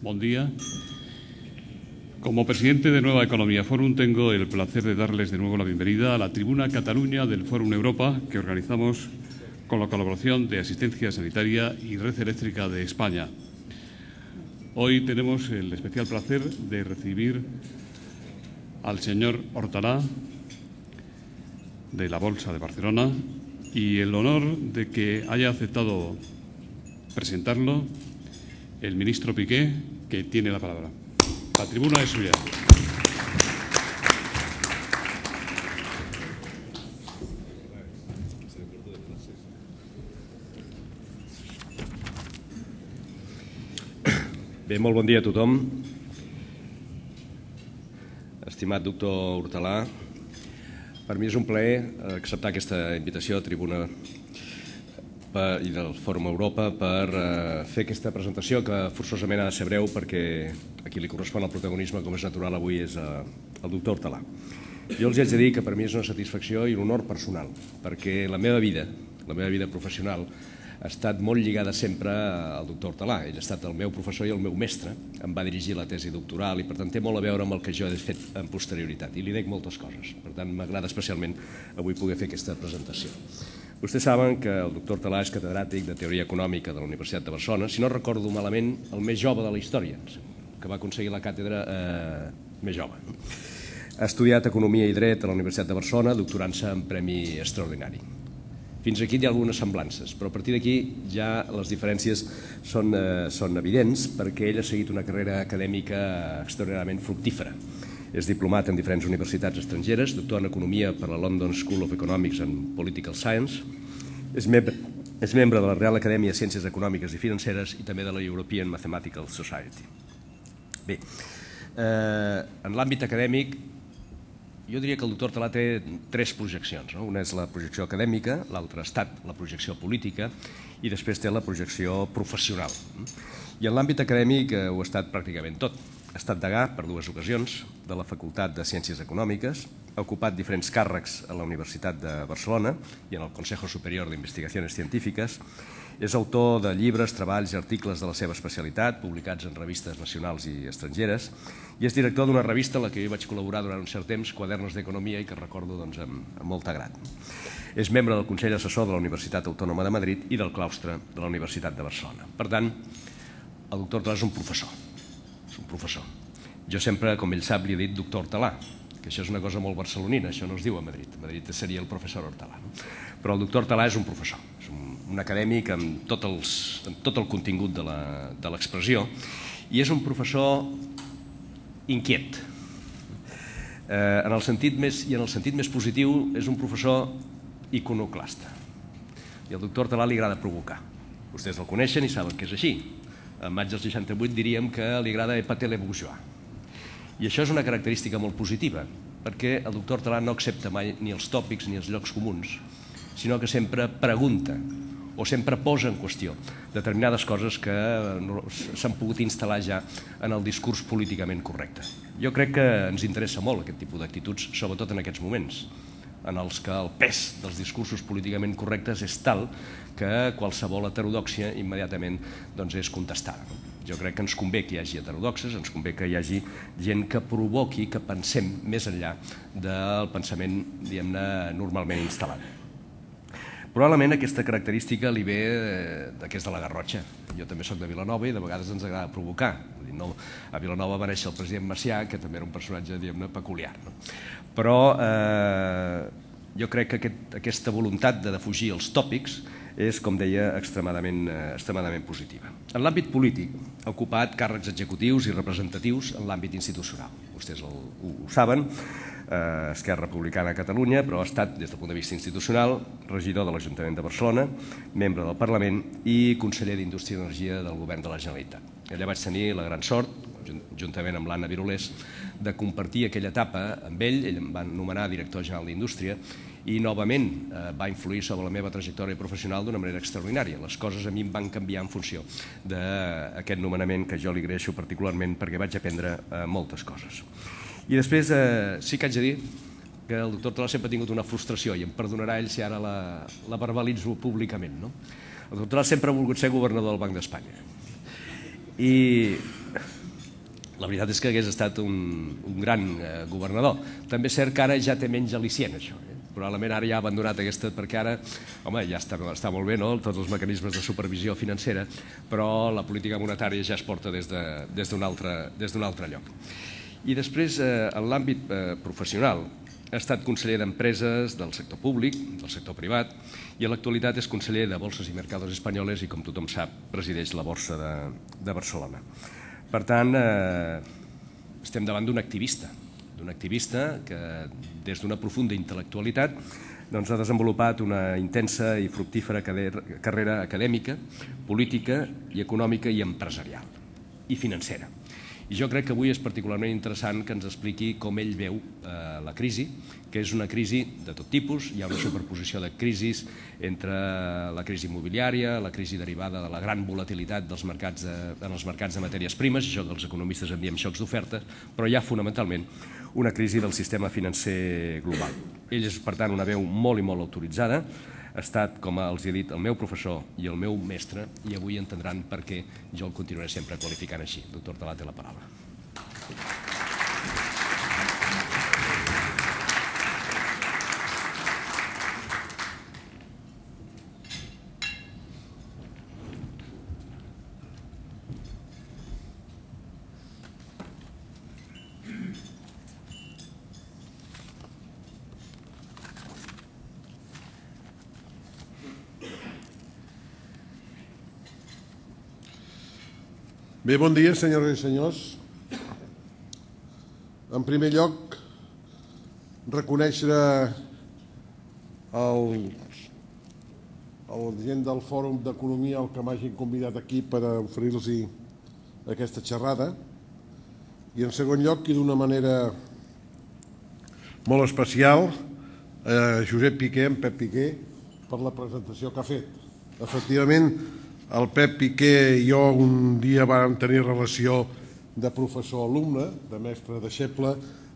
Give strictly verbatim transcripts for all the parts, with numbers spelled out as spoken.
Buen día. Como presidente de Nueva Economía Forum tengo el placer de darles de nuevo la bienvenida a la tribuna Cataluña del Fórum Europa que organizamos con la colaboración de Asistencia Sanitaria y Red Eléctrica de España. Hoy tenemos el especial placer de recibir al señor Hortalà de la Bolsa de Barcelona y el honor de que haya aceptado presentarlo el ministro Piqué, que tiene la palabra. La tribuna es suya. Bé, molt bon dia a tothom. Estimat doctor Hortalà, per mi és un plaer acceptar aquesta invitació a tribuna i del Fòrum Europa per fer aquesta presentació que forçosament ha de ser breu perquè a qui li correspon el protagonisme, com és natural avui, és el doctor Hortalà. Jo els haig de dir que per mi és una satisfacció i un honor personal perquè la meva vida, la meva vida professional ha estat molt lligada sempre al doctor Hortalà. Ell ha estat el meu professor i el meu mestre, em va dirigir la tesi doctoral i per tant té molt a veure amb el que jo he fet en posterioritat i li dec moltes coses. Per tant m'agrada especialment avui poder fer aquesta presentació. Vostès saben que el doctor Hortalà és catedràtic de Teoria Econòmica de la Universitat de Barcelona, si no recordo malament, el més jove de la història, que va aconseguir la càtedra eh, més jove. Ha estudiat Economia i Dret a la Universitat de Barcelona, doctorant-se en Premi Extraordinari. Fins aquí hi ha algunes semblances, però a partir d'aquí ja les diferències són, eh, són evidents perquè ell ha seguit una carrera acadèmica extraordinàriament fructífera. És diplomat en diferents universitats estrangeres, doctor en Economia per la London School of Economics and Political Science, és membre, és membre de la Real Acadèmia de Ciències Econòmiques i Financeres i també de la European Mathematical Society. Bé, eh, en l'àmbit acadèmic, jo diria que el doctor Hortalà té tres projeccions. No? Una és la projecció acadèmica, l'altra ha estat la projecció política i després té la projecció professional. I en l'àmbit acadèmic eh, ho ha estat pràcticament tot. Ha estat degà per dues ocasions de la Facultat de Ciències Econòmiques, ha ocupat diferents càrrecs a la Universitat de Barcelona i en el Consejo Superior de Investigaciones Científiques, és autor de llibres, treballs i articles de la seva especialitat, publicats en revistes nacionals i estrangeres, i és director d'una revista en la que jo vaig col·laborar durant un cert temps, Quadernos d'Economia, i que recordo doncs, amb, amb molt agrat. És membre del Consell Assessor de la Universitat Autònoma de Madrid i del claustre de la Universitat de Barcelona. Per tant, el doctor Hortalà és un professor. És un professor. Jo sempre, com ell sap, li he dit doctor Hortalà, que això és una cosa molt barcelonina, això no es diu a Madrid. A Madrid seria el professor Hortalà. No? Però el doctor Hortalà és un professor, és un, un acadèmic amb tot, els, amb tot el contingut de l'expressió i és un professor inquiet. Eh, en el sentit més, I en el sentit més positiu és un professor iconoclasta. I al doctor Hortalà li agrada provocar. Vostès el coneixen i saben que és així. En maig del seixanta-vuit diríem que li agrada épater les bourgeois. I això és una característica molt positiva, perquè el doctor Hortalà no accepta mai ni els tòpics ni els llocs comuns, sinó que sempre pregunta o sempre posa en qüestió determinades coses que s'han pogut instal·lar ja en el discurs políticament correcte. Jo crec que ens interessa molt aquest tipus d'actituds, sobretot en aquests moments, en els que el pes dels discursos políticament correctes és tal que qualsevol heterodòxia immediatament doncs, és contestada. Jo crec que ens convé que hi hagi heterodoxes, ens convé que hi hagi gent que provoqui que pensem més enllà del pensament, diguem-ne, normalment instal·lat. Probablement aquesta característica li ve d'aquest de la Garrotxa. Jo també soc de Vilanova i de vegades ens agrada provocar. A Vilanova va néixer el president Macià, que també era un personatge, diguem-ne, peculiar. Però eh, jo crec que aquest, aquesta voluntat de defugir els tòpics és, com deia, extremadament, eh, extremadament positiva. En l'àmbit polític ha ocupat càrrecs executius i representatius en l'àmbit institucional. Vostès el, ho, ho saben, eh, Esquerra Republicana a Catalunya, però ha estat, des del punt de vista institucional, regidor de l'Ajuntament de Barcelona, membre del Parlament i conseller d'Indústria i Energia del Govern de la Generalitat. Allà vaig tenir la gran sort, juntament amb l'Anna Birulés, de compartir aquella etapa amb ell. Ell em va nomenar director general d'Indústria i novament eh, va influir sobre la meva trajectòria professional d'una manera extraordinària. Les coses a mi em van canviar en funció d'aquest nomenament que jo li agraeixo particularment perquè vaig aprendre eh, moltes coses. I després eh, sí que haig de dir que el doctor Hortalà sempre ha tingut una frustració i em perdonarà ell si ara la, la verbalitzo públicament. No? El doctor Hortalà sempre ha volgut ser governador del Banc d'Espanya. i la veritat és que hagués estat un gran governador. També és cert que ara ja té menys al·licient, això. Probablement ara ja ha abandonat aquesta, perquè ara, home, ja està molt bé, no?, tots els mecanismes de supervisió financera, però la política monetària ja es porta des d'un altre lloc. I després, en l'àmbit professional, ha estat conseller d'Empreses del sector públic, del sector privat, i en l'actualitat és conseller de Bolses i Mercados Espanyoles i, com tothom sap, presideix la Borsa de Barcelona. Per tant, estem davant d'un activista, d'un activista que, des d'una profunda intel·lectualitat, ha desenvolupat una intensa i fructífera carrera acadèmica, política i econòmica i empresarial, i financera. I jo crec que avui és particularment interessant que ens expliqui com ell veu la crisi, que és una crisi de tot tipus. Hi ha una superposició de crisis entre la crisi immobiliària, la crisi derivada de la gran volatilitat en els mercats de matèries primes, això que els economistes en diem xocs d'oferta, però hi ha fonamentalment una crisi del sistema financer global. Ell és, per tant, una veu molt i molt autoritzada. Ha estat, com els he dit, el meu professor i el meu mestre, i avui entendran per què jo el continuaré sempre qualificant així. Doctor Hortalà, té la paraula. Bé, bon dia, senyores i senyors. En primer lloc, reconèixer el gent del Fòrum d'Economia el que m'hagin convidat aquí per oferir-los aquesta xerrada. I en segon lloc, i d'una manera molt especial, a Josep Piqué, en Pep Piqué, per la presentació que ha fet. Efectivament, el Pep Piqué i jo un dia vam tenir relació de professor-alumne, de mestre-deixeble.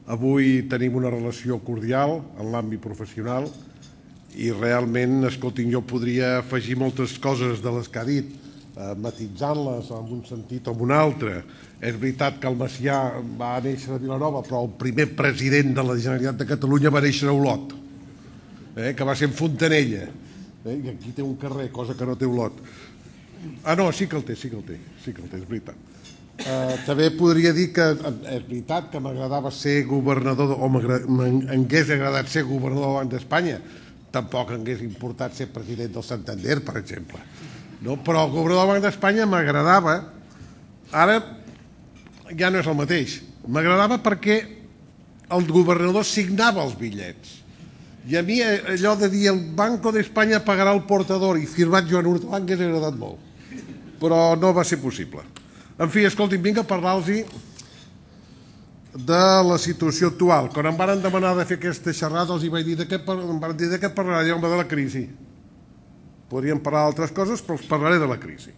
Avui tenim una relació cordial en l'àmbit professional i realment, escoltin, jo podria afegir moltes coses de les que ha dit, matitzant-les en un sentit o en un altre. És veritat que el Macià va néixer a Vilanova, però el primer president de la Generalitat de Catalunya va néixer a Olot, que va ser en Fontanella, i aquí té un carrer, cosa que no té Olot. Ah, no, sí que el té, sí que el té, sí que el té, és veritat. També podria dir que és veritat que m'agradava ser governador, o m'hagués agradat ser governador del Banc d'Espanya. Tampoc m'hagués importat ser president del Santander, per exemple. Però el governador del Banc d'Espanya m'agradava, ara ja no és el mateix. M'agradava perquè el governador signava els bitllets. I a mi allò de dir el Banco d'Espanya pagarà el portador i firmat Joan Hortalà m'hagués agradat molt. Però no va ser possible. En fi, escolti'm, vinc a parlar-los de la situació actual. Quan em van demanar de fer aquesta xerrada, els vaig dir de què parlaré, home, de la crisi. Podríem parlar d'altres coses, però els parlaré de la crisi.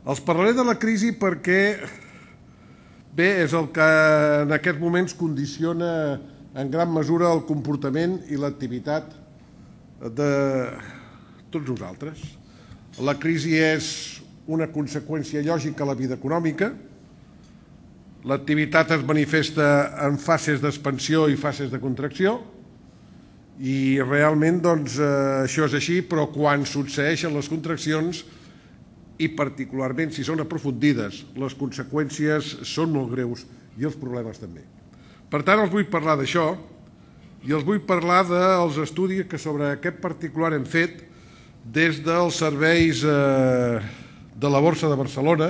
Els parlaré de la crisi perquè, bé, és el que en aquests moments condiciona en gran mesura el comportament i l'activitat de tots nosaltres. La crisi és una conseqüència lògica a la vida econòmica. L'activitat es manifesta en fases d'expansió i fases de contracció i realment doncs això és així, però quan succeeixen les contraccions i particularment si són aprofundides, les conseqüències són molt greus i els problemes també. Per tant, els vull parlar d'això i els vull parlar dels estudis que sobre aquest particular hem fet des dels serveis de la Borsa de Barcelona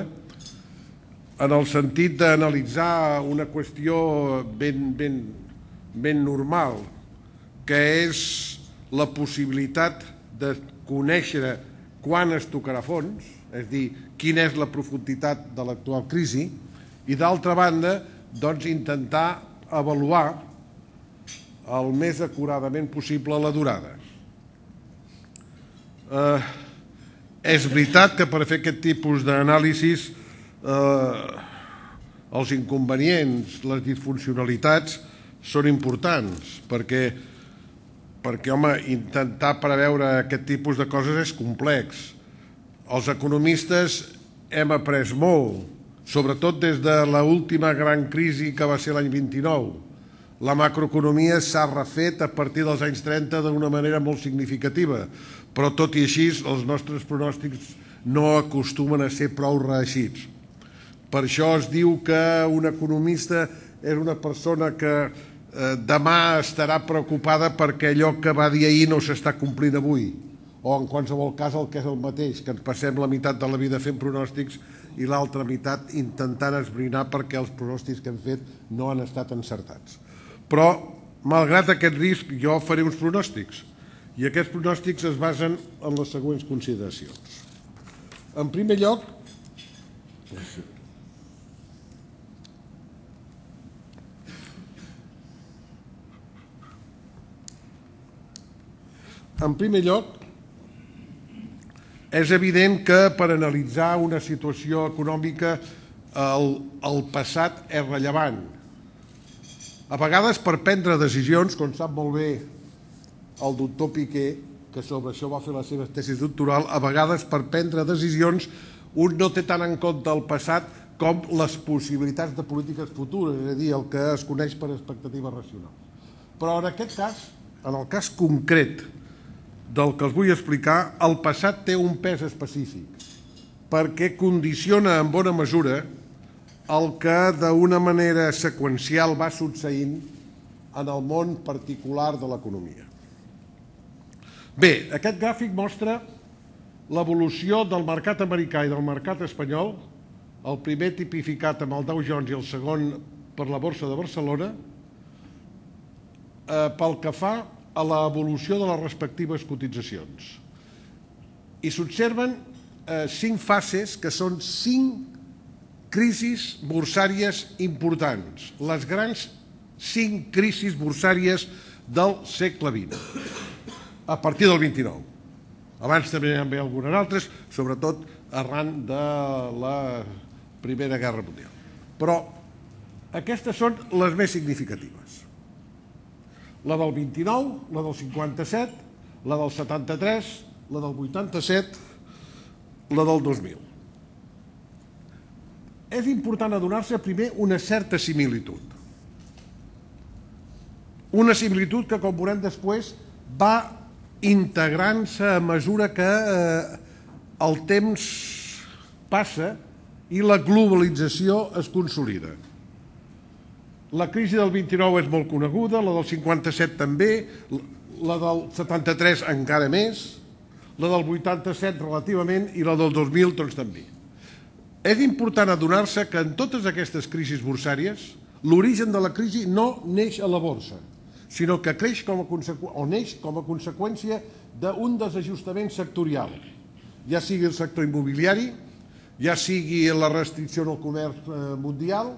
en el sentit d'analitzar una qüestió ben normal, que és la possibilitat de conèixer quan es tocarà fons, és a dir, quina és la profunditat de l'actual crisi, i d'altra banda, doncs intentar avaluar el més acuradament possible la durada. És veritat que per fer aquest tipus d'anàlisis els inconvenients, les disfuncionalitats són importants perquè, home, intentar preveure aquest tipus de coses és complex. Els economistes hem après molt, sobretot des de l'última gran crisi que va ser l'any vint-i-nou. La macroeconomia s'ha refet a partir dels anys trenta d'una manera molt significativa, però tot i així els nostres pronòstics no acostumen a ser prou reeixits. Per això es diu que un economista és una persona que demà estarà preocupada perquè allò que va dir ahir no s'està complint avui, o en qualsevol cas el que és el mateix, que ens passem la meitat de la vida fent pronòstics i l'altra meitat intentant esbrinar perquè els pronòstics que hem fet no han estat encertats. Però, malgrat aquest risc, jo faré uns pronòstics, i aquests pronòstics es basen en les següents consideracions. En primer lloc, en primer lloc, és evident que per analitzar una situació econòmica el, el passat és rellevant. A vegades per prendre decisions, com sap molt bé el doctor Piqué, que sobre això va fer la seva tesi doctoral, a vegades per prendre decisions un no té tant en compte el passat com les possibilitats de polítiques futures, és a dir, el que es coneix per expectatives racionals. Però en aquest cas, en el cas concret del que els vull explicar, el passat té un pes específic, perquè condiciona en bona mesura el que d'una manera seqüencial va succeint en el món particular de l'economia. Bé, aquest gràfic mostra l'evolució del mercat americà i del mercat espanyol, el primer tipificat amb el Dow Jones i el segon per la Borsa de Barcelona, pel que fa a l'evolució de les respectives cotitzacions. I s'observen cinc fases que són cinc crisis borsàries importants, les grans cinc crisis borsàries del segle vint, a partir del vint-i-nou. Abans també hi havia algunes altres, sobretot arran de la Primera Guerra Mundial. Però aquestes són les més significatives. La del vint-i-nou, la del cinquanta-set, la del setanta-tres, la del vuitanta-set, la del dos mil. És important adonar-se primer una certa similitud. Una similitud que, com veurem després, va integrant-se a mesura que el temps passa i la globalització es consolida. La crisi del vint-i-nou és molt coneguda, la del cinquanta-set també, la del setanta-tres encara més, la del vuitanta-set relativament i la del dos mil doncs també. És important adonar-se que en totes aquestes crisis borsàries l'origen de la crisi no neix a la borsa, sinó que creix com a o neix com a conseqüència d'un desajustament sectorial, ja sigui el sector immobiliari, ja sigui la restricció en el comerç mundial,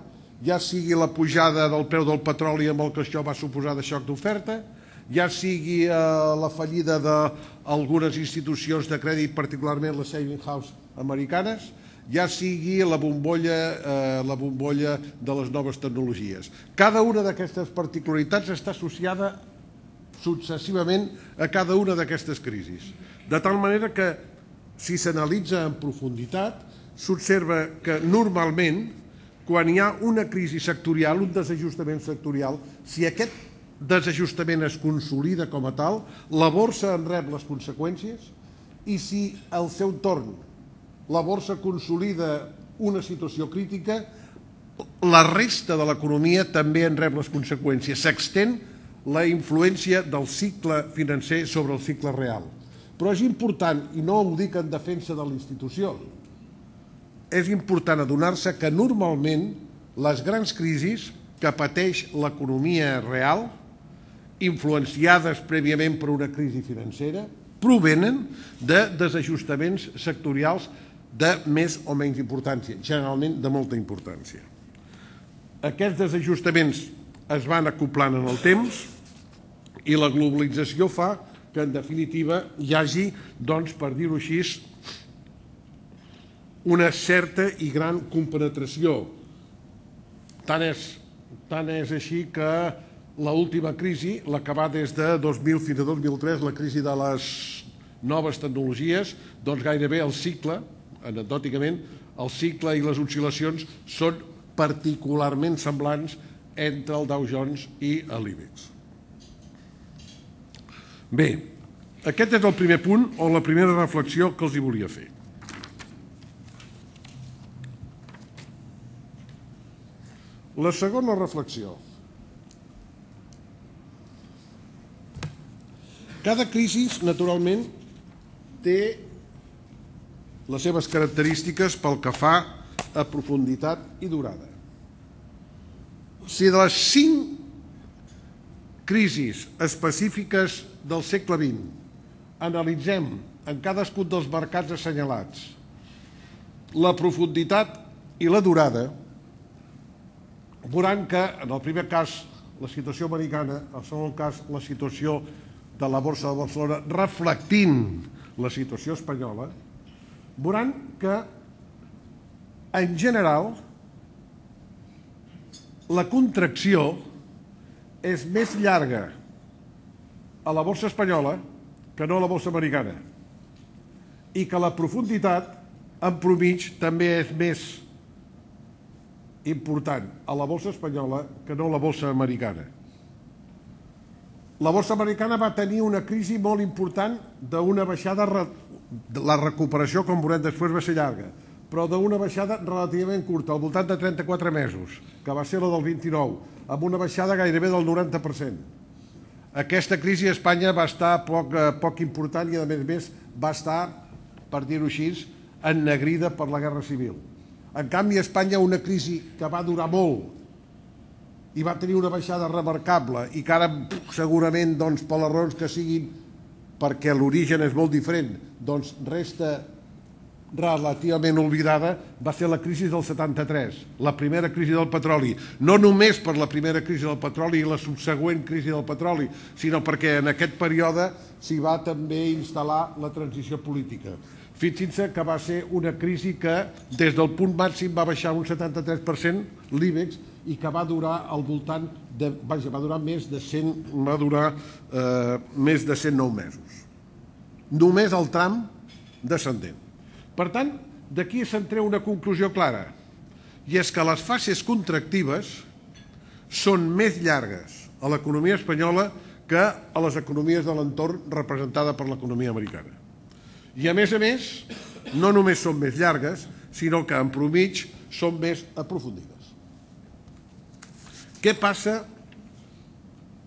ja sigui la pujada del preu del petroli amb el que això va suposar de xoc d'oferta, ja sigui la fallida d'algunes institucions de crèdit, particularment les saving house americanes, ja sigui la bombolla, la bombolla de les noves tecnologies. Cada una d'aquestes particularitats està associada successivament a cada una d'aquestes crisis. De tal manera que, si s'analitza en profunditat, s'observa que normalment, quan hi ha una crisi sectorial, un desajustament sectorial, si aquest desajustament es consolida com a tal, la borsa en rep les conseqüències i si al seu torn la borsa consolida una situació crítica, la resta de l'economia també en rep les conseqüències. S'extén la influència del cicle financer sobre el cicle real. Però és important, i no ho dic en defensa de la institució, és important adonar-se que normalment les grans crisis que pateix l'economia real, influenciades prèviament per una crisi financera, provenen de desajustaments sectorials de més o menys importància, generalment de molta importància. Aquests desajustaments es van acoplant en el temps i la globalització fa que, en definitiva, hi hagi, doncs, per dir-ho així, una certa i gran compenetració. Tant és, tant és així que l'última crisi, la que va des de dos mil fins a dos mil tres, la crisi de les noves tecnologies, doncs gairebé el cicle, anecdòticament, el cicle i les oscil·lacions són particularment semblants entre el Dow Jones i l'IBEX. Bé, aquest és el primer punt o la primera reflexió que els hi volia fer. La segona reflexió. Cada crisi, naturalment, té les seves característiques pel que fa a profunditat i durada. Si de les cinc crisis específiques del segle vint analitzem en cadascun dels mercats assenyalats la profunditat i la durada, veuran que en el primer cas la situació americana, en el segon cas la situació de la borsa de Barcelona reflectint la situació espanyola, veuran que en general la contracció és més llarga a la borsa espanyola que no a la borsa americana i que la profunditat en promig també és més important a la borsa espanyola que no a la borsa americana. La borsa americana va tenir una crisi molt important d'una baixada, la recuperació, com veurem després, va ser llarga, però d'una baixada relativament curta, al voltant de trenta-quatre mesos, que va ser la del vint-i-nou, amb una baixada gairebé del noranta per cent. Aquesta crisi a Espanya va estar poc, poc important i, a més a més, va estar, per dir-ho així, ennegrida per la Guerra Civil. En canvi, a Espanya una crisi que va durar molt i va tenir una baixada remarcable i que ara segurament, doncs, per les raons que siguin, perquè l'origen és molt diferent, doncs resta relativament oblidada, va ser la crisi del setanta-tres, la primera crisi del petroli. No només per la primera crisi del petroli i la subsegüent crisi del petroli, sinó perquè en aquest període s'hi va també instal·lar la transició política. Fixin-se que va ser una crisi que des del punt màxim va baixar un setanta-tres per cent l'IBEX i que va durar al voltant de, vaja, va durar més de cent, va durar eh, més de cent nou mesos. Només el tram descendent. Per tant, d'aquí se'n treu una conclusió clara, i és que les fases contractives són més llargues a l'economia espanyola que a les economies de l'entorn representada per l'economia americana. I a més a més, no només són més llargues, sinó que en promig són més aprofundides. Què passa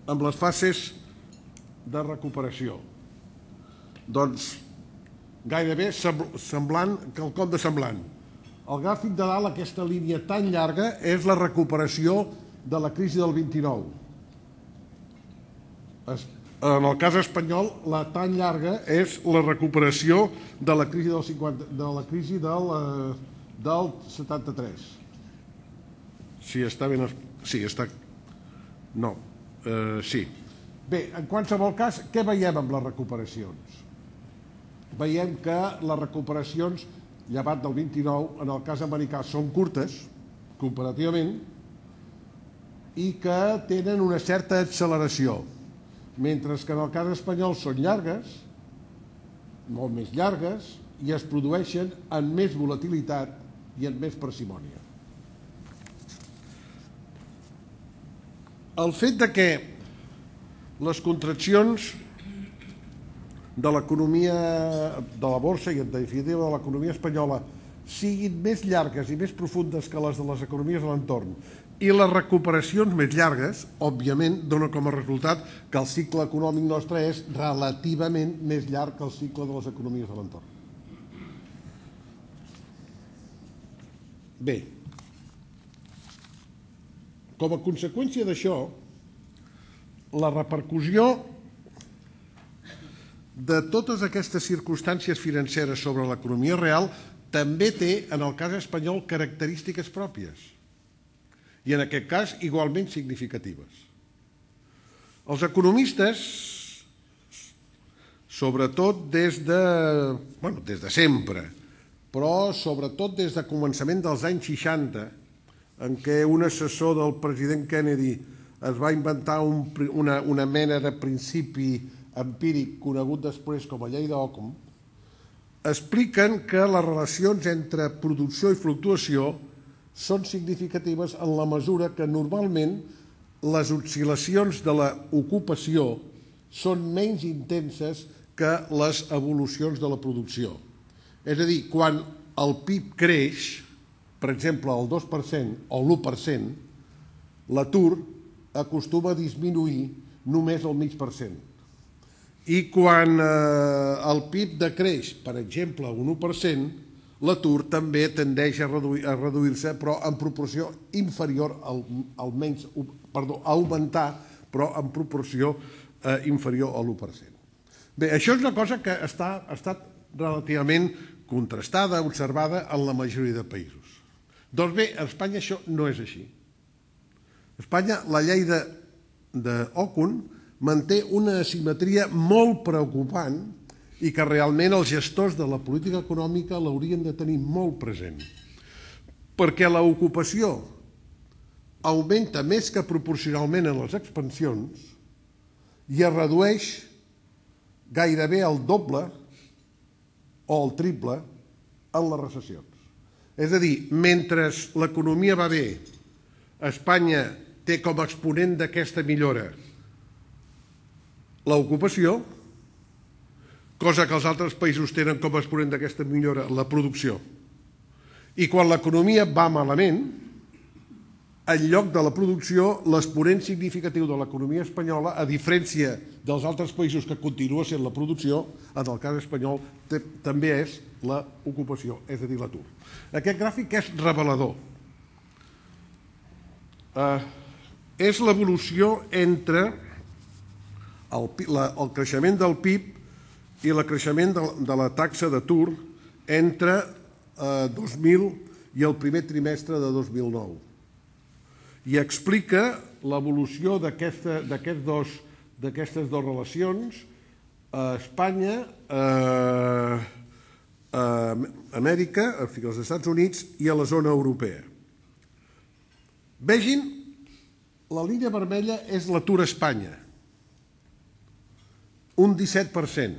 amb les fases de recuperació? Doncs gairebé semblant, quelcom de semblant. El gràfic de dalt, aquesta línia tan llarga, és la recuperació de la crisi del vint-i-nou. En el cas espanyol, la tan llarga és la recuperació de la crisi del, cinquanta, de la crisi del, del setanta-tres. Si està ben... Sí, està... No, eh, sí. Bé, en qualsevol cas, què veiem amb les recuperacions? Veiem que les recuperacions, llevat del vint-i-nou, en el cas americà són curtes, comparativament, i que tenen una certa acceleració, mentre que en el cas espanyol són llargues, molt més llargues, i es produeixen amb més volatilitat i amb més parsimònia. El fet de que les contraccions de l'economia de la borsa i en definitiva de l'economia espanyola siguin més llargues i més profundes que les de les economies de l'entorn i les recuperacions més llargues, òbviament, dona com a resultat que el cicle econòmic nostre és relativament més llarg que el cicle de les economies de l'entorn. Bé, com a conseqüència d'això, la repercussió de totes aquestes circumstàncies financeres sobre l'economia real també té, en el cas espanyol, característiques pròpies i, en aquest cas, igualment significatives. Els economistes, sobretot des de, bueno, des de sempre, però sobretot des de començament dels anys seixanta, en què un assessor del president Kennedy es va inventar un, una, una mena de principi empíric conegut després com a llei d'Ockham, expliquen que les relacions entre producció i fluctuació són significatives en la mesura que normalment les oscil·lacions de l'ocupació són menys intenses que les evolucions de la producció. És a dir, quan el P I B creix, per exemple, el dos per cent o l'u per cent, l'atur acostuma a disminuir només el mig per cent. I quan el P I B decreix, per exemple, un u per cent, l'atur també tendeix a reduir-se, però en proporció inferior, almenys, perdó, a augmentar, però en proporció inferior a l'u per cent. Bé, això és una cosa que ha estat relativament contrastada, observada en la majoria de països. Doncs bé, a Espanya això no és així. A Espanya la llei d'Ockham manté una asimetria molt preocupant i que realment els gestors de la política econòmica l'haurien de tenir molt present. Perquè l'ocupació augmenta més que proporcionalment en les expansions i es redueix gairebé el doble o el triple en les recessions. És a dir, mentre l'economia va bé, Espanya té com a exponent d'aquesta millora l'ocupació, cosa que els altres països tenen com a exponent d'aquesta millora la producció. I quan l'economia va malament, en lloc de la producció, l'exponent significatiu de l'economia espanyola, a diferència dels altres països que continua sent la producció, en el cas espanyol també és l'ocupació, és a dir, l'atur. Aquest gràfic és revelador. És l'evolució entre el creixement del P I B i el creixement de la taxa d'atur entre dos mil i el primer trimestre de dos mil nou. I explica l'evolució d'aquestes dues relacions a Espanya, a Amèrica, als Estats Units i a la zona europea. Vegin, la línia vermella és l'atur a Espanya, un disset per cent.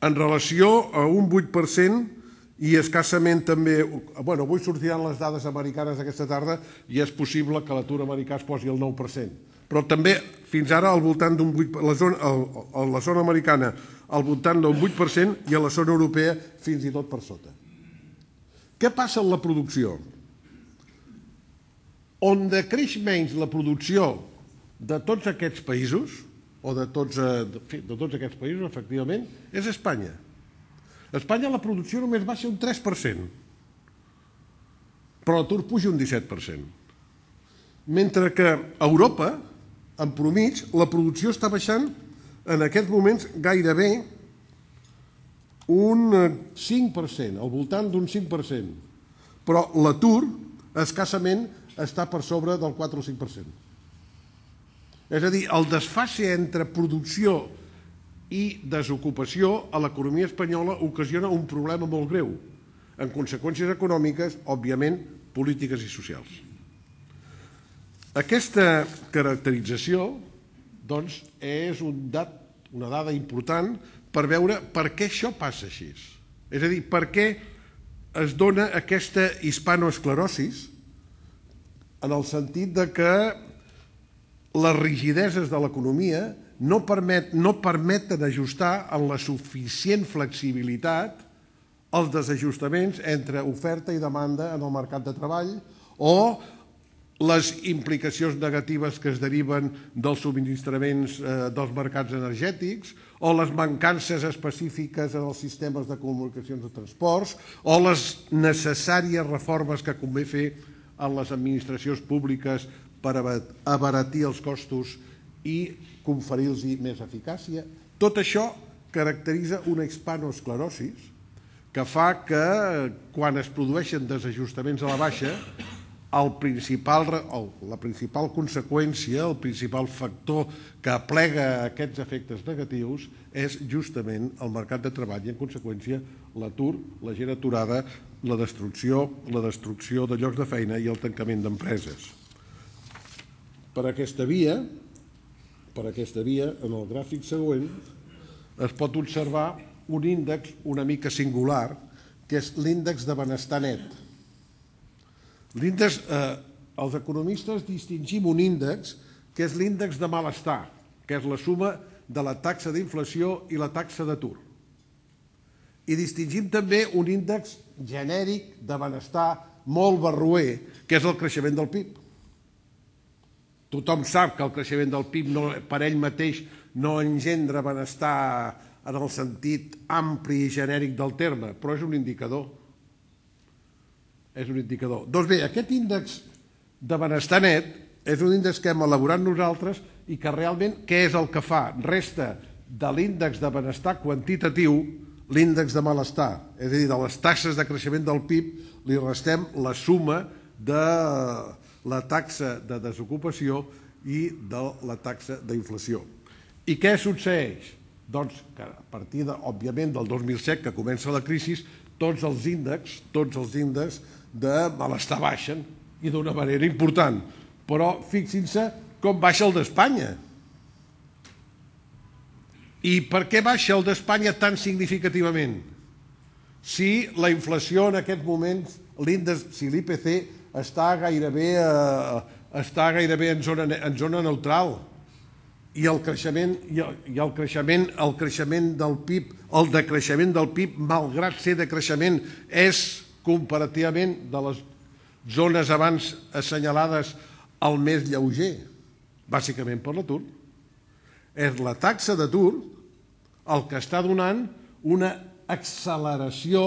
En relació a un vuit per cent i escassament també... Bueno, avui sortiran les dades americanes aquesta tarda i és possible que l'atur americà es posi al nou per cent. Però també, fins ara, al voltant d'un vuit per cent, a la zona americana al voltant d'un vuit per cent i a la zona europea fins i tot per sota. Què passa en la producció? On decreix menys la producció de tots aquests països, o de tots aquests països, efectivament, és Espanya. A Espanya la producció només baixa un tres per cent, però l'atur puja un disset per cent. Mentre que a Europa, en promig, la producció està baixant en aquests moments gairebé un cinc per cent, al voltant d'un cinc per cent. Però l'atur, escassament, està per sobre del quatre o cinc per cent. És a dir, el desfase entre producció i desocupació a l'economia espanyola ocasiona un problema molt greu, en conseqüències econòmiques, òbviament, polítiques i socials. Aquesta caracterització, doncs, és una dada important per veure per què això passa així. És a dir, per què es dona aquesta hispanoesclerosi en el sentit de que les rigideses de l'economia no permeten ajustar amb la suficient flexibilitat els desajustaments entre oferta i demanda en el mercat de treball o les implicacions negatives que es deriven dels subministraments dels mercats energètics o les mancances específiques en els sistemes de comunicacions de transports o les necessàries reformes que convé fer en les administracions públiques per abaratir els costos i conferir-los més eficàcia. Tot això caracteritza una hispanoesclerosi que fa que quan es produeixen desajustaments a la baixa, la principal conseqüència, el principal factor que aplega aquests efectes negatius és justament el mercat de treball i, en conseqüència, l'atur, la gent aturada, la destrucció de llocs de feina i el tancament d'empreses. Per aquesta via, per aquesta via, en el gràfic següent, es pot observar un índex una mica singular, que és l'índex de benestar net. L'índex, eh, els economistes distingim un índex que és l'índex de malestar, que és la suma de la taxa d'inflació i la taxa d'atur. I distingim també un índex genèric de benestar molt barroer, que és el creixement del P I B. Tothom sap que el creixement del P I B no, per ell mateix no engendra benestar en el sentit ampli i genèric del terme, però és un indicador. És un indicador. Doncs bé, aquest índex de benestar net és un índex que hem elaborat nosaltres i que realment què és el que fa? Resta de l'índex de benestar quantitatiu l'índex de malestar. És a dir, de les taxes de creixement del P I B li restem la suma de la taxa de desocupació i de la taxa d'inflació. I què succeeix? Doncs que a partir, de, òbviament, del dos mil set, que comença la crisi, tots els índexs, tots els índexs de malestar baixen, i d'una manera important. Però fixin-se com baixa el d'Espanya. I per què baixa el d'Espanya tan significativament? Si la inflació en aquests moments, l'índex, si l'I P C està gairebé, eh, està gairebé en zona, en zona neutral, i el creixement, i el, i el creixement, el creixement del P I B, el decreixement del P I B, malgrat ser decreixement, és comparativament de les zones abans assenyalades el més lleuger, bàsicament per l'atur. És la taxa d'atur el que està donant una acceleració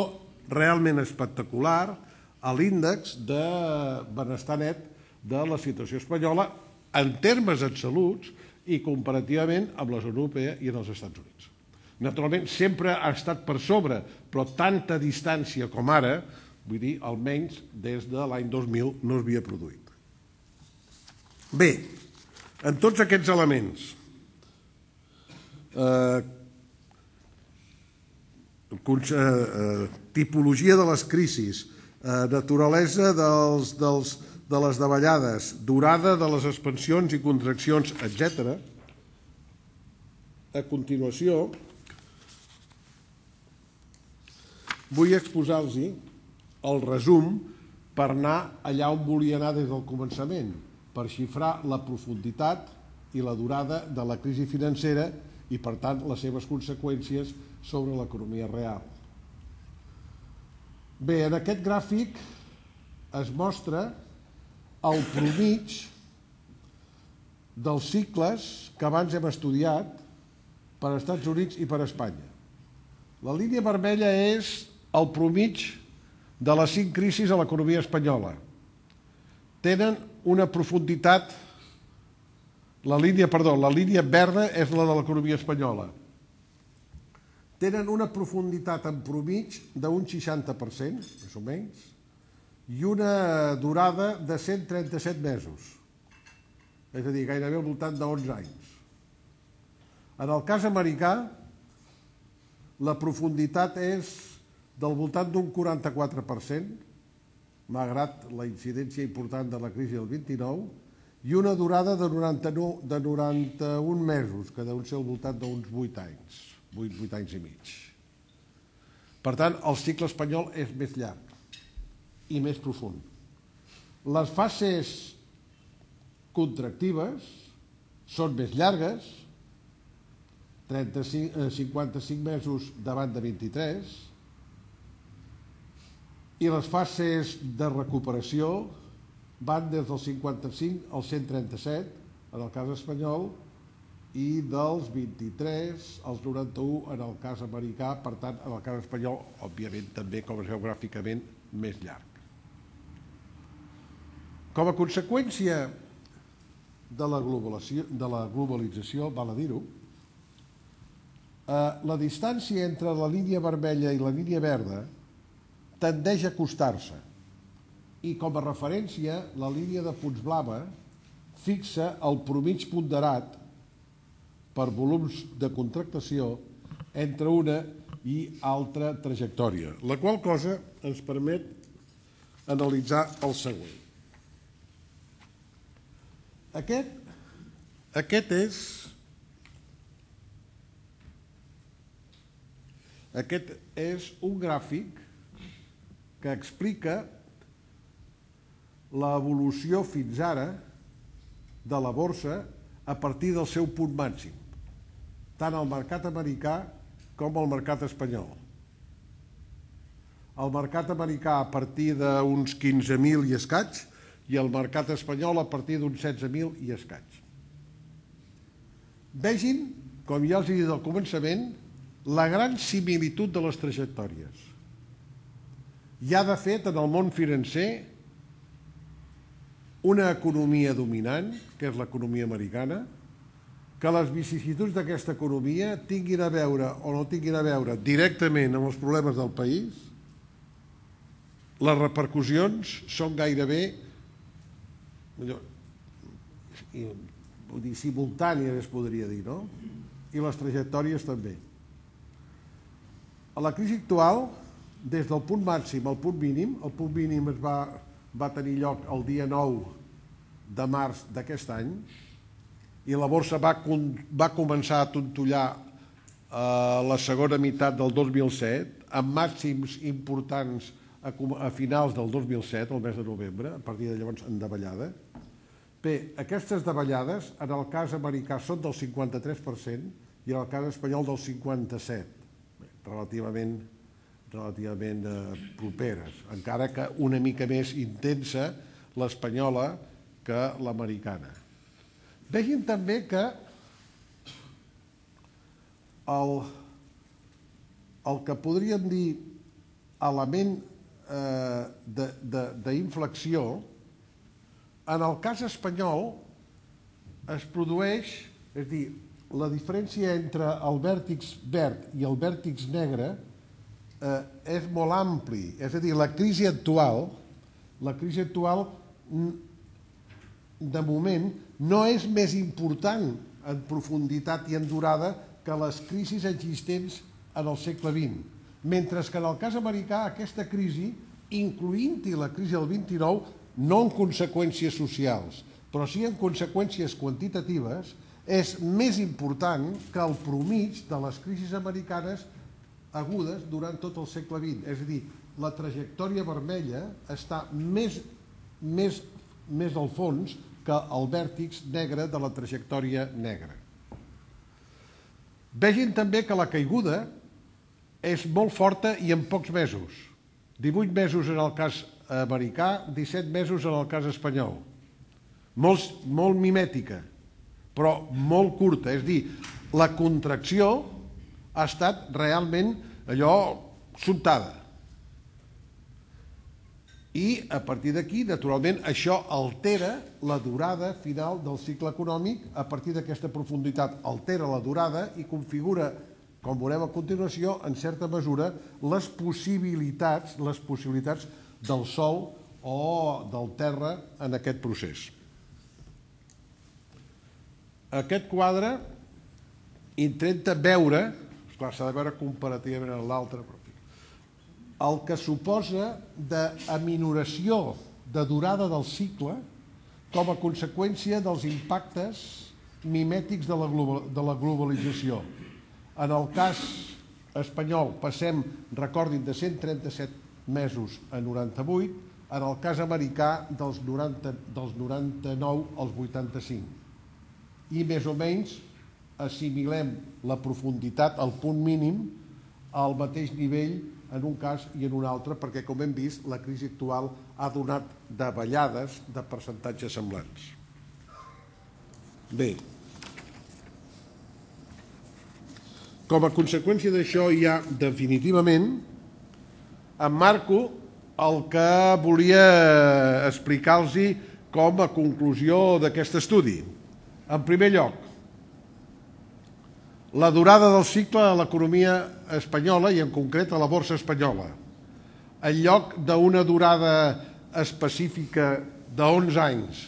realment espectacular a l'índex de benestar net de la situació espanyola en termes absoluts i comparativament amb la zona europea i en els Estats Units. Naturalment, sempre ha estat per sobre, però tanta distància com ara, vull dir, almenys des de l'any dos mil no s'havia produït. Bé, en tots aquests elements, eh, eh, tipologia de les crisis, eh, naturalesa dels, dels, de les davallades, durada de les expansions i contraccions, etcètera. A continuació, vull exposar-los el resum per anar allà on volia anar des del començament, per xifrar la profunditat i la durada de la crisi financera i, per tant, les seves conseqüències sobre l'economia real. Bé, en aquest gràfic es mostra el promig dels cicles que abans hem estudiat per als Estats Units i per a Espanya. La línia vermella és el promig de les cinc crisis a l'economia espanyola. Tenen una profunditat, la línia, perdó, la línia verda és la de l'economia espanyola. Tenen una profunditat en promig d'un seixanta per cent, més o menys, i una durada de cent trenta-set mesos, és a dir, gairebé al voltant d'onze anys. En el cas americà, la profunditat és del voltant d'un quaranta-quatre per cent, malgrat la incidència important de la crisi del vint-i-nou, i una durada de noranta-un mesos, que deu ser al voltant d'uns vuit anys, vuit anys i mig. Per tant, el cicle espanyol és més llarg i més profund. Les fases contractives són més llargues, cinquanta-cinc mesos davant de vint-i-tres, i les fases de recuperació van des del cinquanta-cinc al cent trenta-set, en el cas espanyol, i dels vint-i-tres als noranta-u en el cas americà, per tant, en el cas espanyol, òbviament, també, com es veu gràficament, més llarg. Com a conseqüència de la globalització, val a dir-ho, la distància entre la línia vermella i la línia verda tendeix a acostar-se i, com a referència, la línia de punts blava fixa el promig ponderat per volums de contractació entre una i altra trajectòria, la qual cosa ens permet analitzar el següent. Aquest, aquest és Aquest és un gràfic que explica l'evolució fins ara de la borsa a partir del seu punt màxim, tant al mercat americà com al mercat espanyol. El mercat americà a partir d'uns quinze mil i escaig i el mercat espanyol a partir d'uns setze mil i escaig. Vegin, com ja els he dit al començament, la gran similitud de les trajectòries. Hi ha, de fet, en el món financer una economia dominant, que és l'economia americana, que les vicissituds d'aquesta economia tinguin a veure o no tinguin a veure directament amb els problemes del país, les repercussions són gairebé simultànies, es podria dir, no? I les trajectòries també. A la crisi actual, des del punt màxim al punt mínim, el punt mínim es va, va tenir lloc el dia nou de març d'aquest any i la borsa va, va començar a tontollar a la segona meitat del dos mil set, amb màxims importants a, a finals del dos mil set, el mes de novembre, a partir de llavors en davallada. Bé, aquestes davallades, en el cas americà, són del cinquanta-tres per cent i en el cas espanyol del cinquanta-set per cent. Relativament, relativament eh, properes, encara que una mica més intensa l'espanyola que l'americana. Vegin també que el, el que podríem dir element eh, d'inflexió, en el cas espanyol es produeix, és a dir, la diferència entre el vèrtex verd i el vèrtex negre eh, és molt ampli. És a dir, la crisi actual, la crisi actual de moment no és més important en profunditat i en durada que les crisis existents en el segle vint. Mentre que en el cas americà aquesta crisi, incloent-hi la crisi del vint-i-nou, no en conseqüències socials, però sí en conseqüències quantitatives, és més important que el promig de les crisis americanes agudes durant tot el segle vint. És a dir, la trajectòria vermella està més, més, més al fons que el vèrtex negre de la trajectòria negra. Vegin també que la caiguda és molt forta i en pocs mesos. divuit mesos en el cas americà, disset mesos en el cas espanyol. Molt, molt mimètica, però molt curta. És a dir, la contracció ha estat realment allò sobtada. I a partir d'aquí, naturalment, això altera la durada final del cicle econòmic. A partir d'aquesta profunditat altera la durada i configura, com veurem a continuació, en certa mesura, les possibilitats, les possibilitats del sòl o del terra en aquest procés. Aquest quadre intenta veure, esclar, s'ha de veure comparativament amb l'altre, el que suposa d'aminoració de durada del cicle com a conseqüència dels impactes mimètics de la, global, de la globalització. En el cas espanyol passem, recordin, de cent trenta-set mesos a noranta-vuit, en el cas americà dels, noranta, dels noranta-nou als vuitanta-cinc. I més o menys assimilem la profunditat al punt mínim al mateix nivell en un cas i en un altre, perquè, com hem vist, la crisi actual ha donat davallades de percentatges semblants. Bé, com a conseqüència d'això ja definitivament emmarco el que volia explicar-los com a conclusió d'aquest estudi. En primer lloc, la durada del cicle a l'economia espanyola i en concret a la borsa espanyola. En lloc d'una durada específica d'onze anys,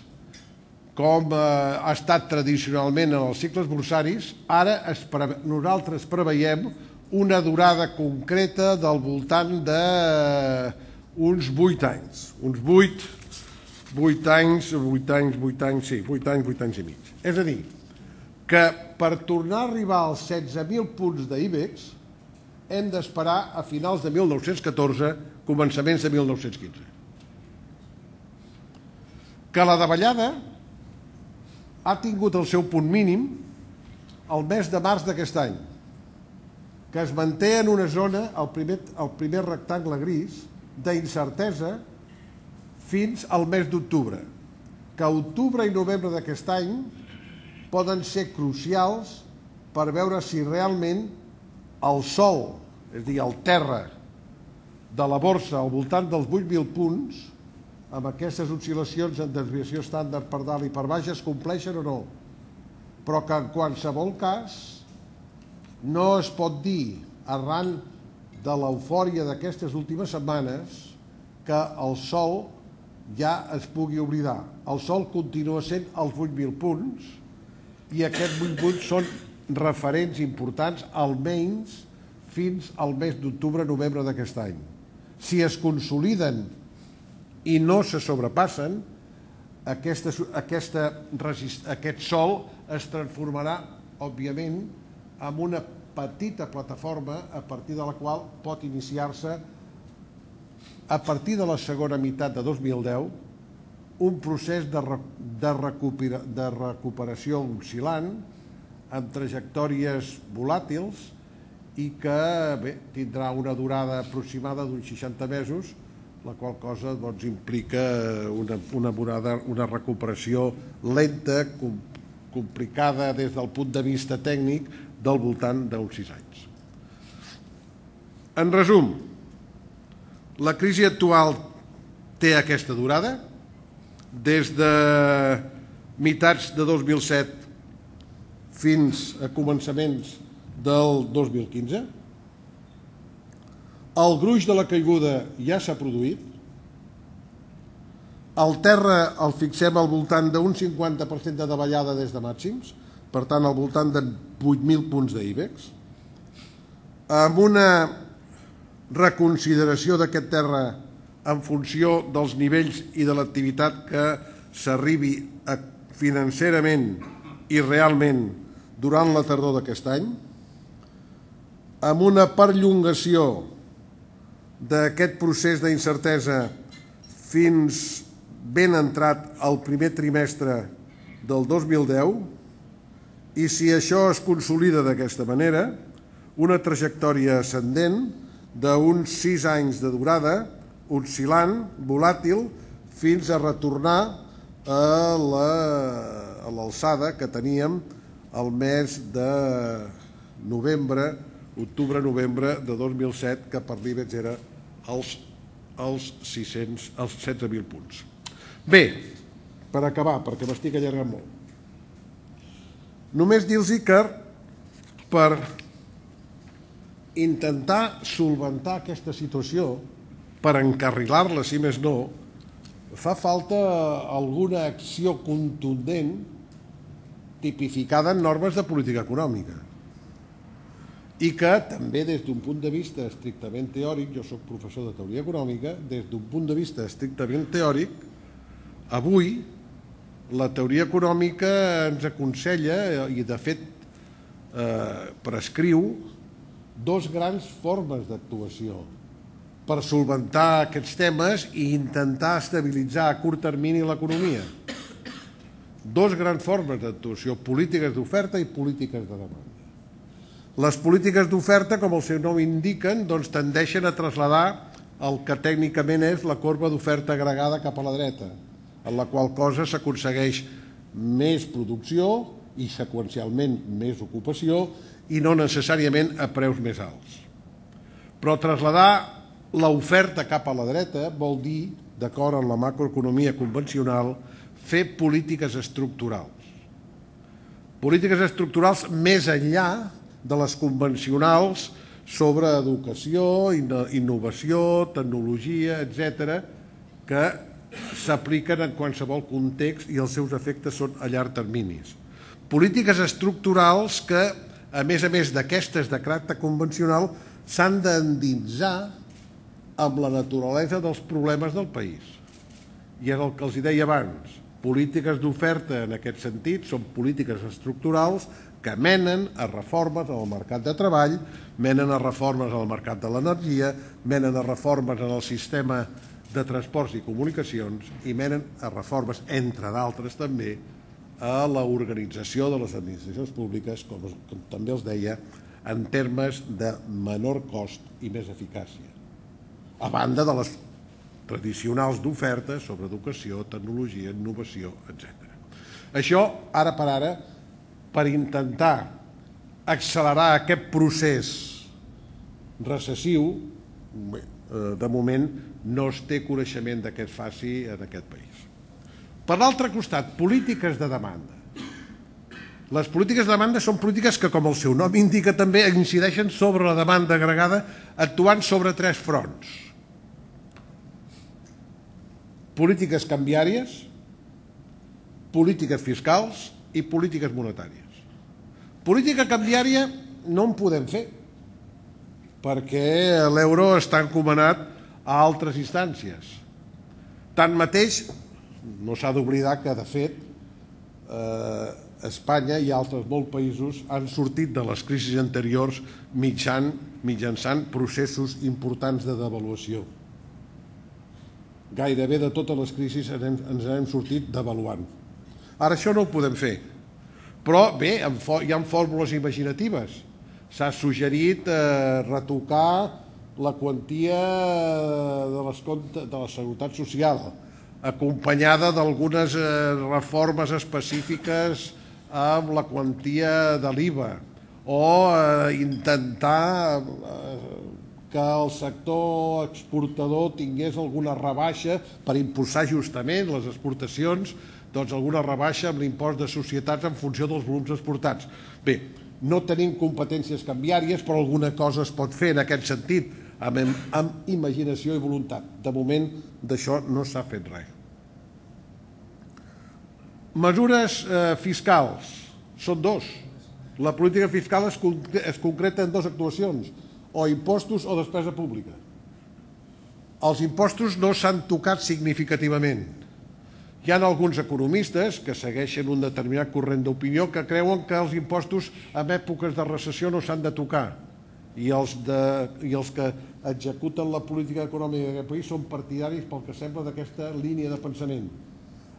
com ha estat tradicionalment en els cicles borsaris, ara nosaltres preveiem una durada concreta del voltant d'uns vuit anys. Uns vuit, vuit anys, vuit anys, vuit anys, sí, vuit anys, vuit anys i mig. És a dir, que per tornar a arribar als setze mil punts d'IBEX hem d'esperar a finals de mil nou-cents catorze, començaments de mil nou-cents quinze. Que la davallada ha tingut el seu punt mínim el mes de març d'aquest any, que es manté en una zona, el primer, el primer rectangle gris, d'incertesa fins al mes d'octubre, que octubre i novembre d'aquest any poden ser crucials per veure si realment el sol, és a dir, el terra de la borsa al voltant dels vuit mil punts, amb aquestes oscil·lacions en desviació estàndard per dalt i per baix, es compleixen o no. Però que en qualsevol cas no es pot dir, arran de l'eufòria d'aquestes últimes setmanes, que el sol ja es pugui oblidar. El sol continua sent els vuit mil punts i aquests vuit punts són referents importants almenys fins al mes d'octubre-novembre d'aquest any. Si es consoliden i no se sobrepassen, aquesta, aquesta, aquest sol es transformarà, òbviament, en una petita plataforma a partir de la qual pot iniciar-se, a partir de la segona meitat de dos mil deu, un procés de, de, recupera, de recuperació oscil·lant amb trajectòries volàtils i que bé, tindrà una durada aproximada d'uns seixanta mesos, la qual cosa doncs, implica una, una, durada, una recuperació lenta, com, complicada des del punt de vista tècnic, del voltant d'uns sis anys. En resum, la crisi actual té aquesta durada, des de mitats de dos mil set fins a començaments del dos mil quinze. El gruix de la caiguda ja s'ha produït. El terra el fixem al voltant d'un cinquanta per cent de davallada des de màxims, per tant al voltant de vuit mil punts d'IBEX, amb una reconsideració d'aquest terra en funció dels nivells i de l'activitat que s'arribi financerament i realment durant la tardor d'aquest any, amb una perllongació d'aquest procés d'incertesa fins ben entrat al primer trimestre del dos mil deu, i si això es consolida d'aquesta manera, una trajectòria ascendent d'uns sis anys de durada, oscil·lant, volàtil, fins a retornar a l'alçada que teníem el mes de novembre, octubre-novembre de dos mil set, que per l'IBEX era els, els, els setze mil punts. Bé, per acabar, perquè m'estic allargant molt, només dir-los que per intentar solventar aquesta situació, per encarrilar-la, si més no, fa falta alguna acció contundent tipificada en normes de política econòmica i que també des d'un punt de vista estrictament teòric, jo soc professor de teoria econòmica, des d'un punt de vista estrictament teòric, avui la teoria econòmica ens aconsella i de fet eh, prescriu dos grans formes d'actuació per solventar aquests temes i intentar estabilitzar a curt termini l'economia. Dos grans formes d'actuació, polítiques d'oferta i polítiques de demanda. Les polítiques d'oferta, com el seu nom indiquen, doncs tendeixen a traslladar el que tècnicament és la corba d'oferta agregada cap a la dreta, en la qual cosa s'aconsegueix més producció i seqüencialment més ocupació i no necessàriament a preus més alts. Però traslladar l'oferta cap a la dreta vol dir, d'acord amb la macroeconomia convencional, fer polítiques estructurals. Polítiques estructurals més enllà de les convencionals sobre educació, innovació, tecnologia, etcètera, que s'apliquen en qualsevol context i els seus efectes són a llarg terminis. Polítiques estructurals que, a més a més d'aquestes de caràcter convencional, s'han d'endinsar amb la naturalesa dels problemes del país. I és el que els deia abans, polítiques d'oferta en aquest sentit són polítiques estructurals que menen a reformes en el mercat de treball, menen a reformes en el mercat de l'energia, menen a reformes en el sistema de transports i comunicacions i menen a reformes, entre d'altres també, a l'organització de les administracions públiques, com, com també els deia, en termes de menor cost i més eficàcia, a banda de les tradicionals d'ofertes sobre educació, tecnologia, innovació, etcètera. Això, ara per ara, per intentar accelerar aquest procés recessiu, de moment no es té coneixement de què es faci en aquest país. Per l'altre costat, polítiques de demanda. Les polítiques de demanda són polítiques que, com el seu nom indica, també incideixen sobre la demanda agregada, actuant sobre tres fronts. Polítiques canviàries, polítiques fiscals i polítiques monetàries. Política canviària no en podem fer, perquè l'euro està encomanat a altres instàncies. Tanmateix, no s'ha d'oblidar que, de fet, Espanya i altres molts països han sortit de les crisis anteriors mitjançant processos importants de devaluació. Gairebé de totes les crisis ens hem sortit devaluant. Ara això no ho podem fer, però bé, hi ha fórmules imaginatives. S'ha suggerit retocar la quantia de la Seguretat Social, acompanyada d'algunes reformes específiques amb la quantia de l'I V A, o intentar que el sector exportador tingués alguna rebaixa per impulsar justament les exportacions, doncs alguna rebaixa amb l'impost de societats en funció dels volums exportats. Bé, no tenim competències canviàries, però alguna cosa es pot fer en aquest sentit, amb imaginació i voluntat. De moment, d'això no s'ha fet res. Mesures fiscals són dos. La política fiscal es concreta en dues actuacions, o impostos o despesa pública. Els impostos no s'han tocat significativament. Hi ha alguns economistes que segueixen un determinat corrent d'opinió que creuen que els impostos en èpoques de recessió no s'han de tocar i els que executen la política econòmica d'aquest país són partidaris, pel que sembla, d'aquesta línia de pensament.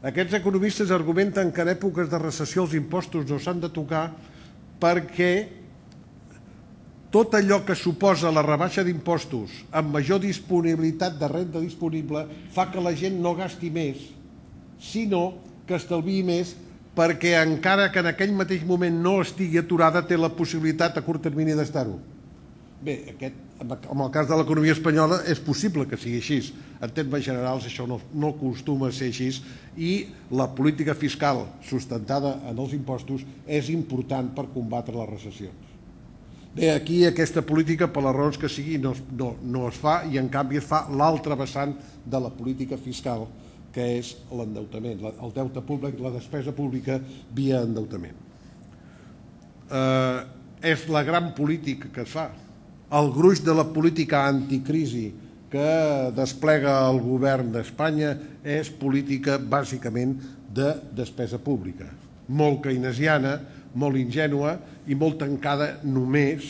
Aquests economistes argumenten que en èpoques de recessió els impostos no s'han de tocar perquè tot allò que suposa la rebaixa d'impostos amb major disponibilitat de renda disponible fa que la gent no gasti més, sinó que estalviï més perquè encara que en aquell mateix moment no estigui aturada té la possibilitat a curt termini d'estar-ho. Bé, en el cas de l'economia espanyola és possible que sigui així. En termes generals això no acostuma a ser així i la política fiscal sustentada en els impostos és important per combatre les recessions. Bé, aquí aquesta política, per les raons que sigui, no es fa i en canvi es fa l'altre vessant de la política fiscal, que és l'endeutament, el deute públic, la despesa pública via endeutament. És la gran política que es fa. El gruix de la política anticrisi que desplega el govern d'Espanya és política bàsicament de despesa pública, molt keynesiana, molt ingènua i molt tancada només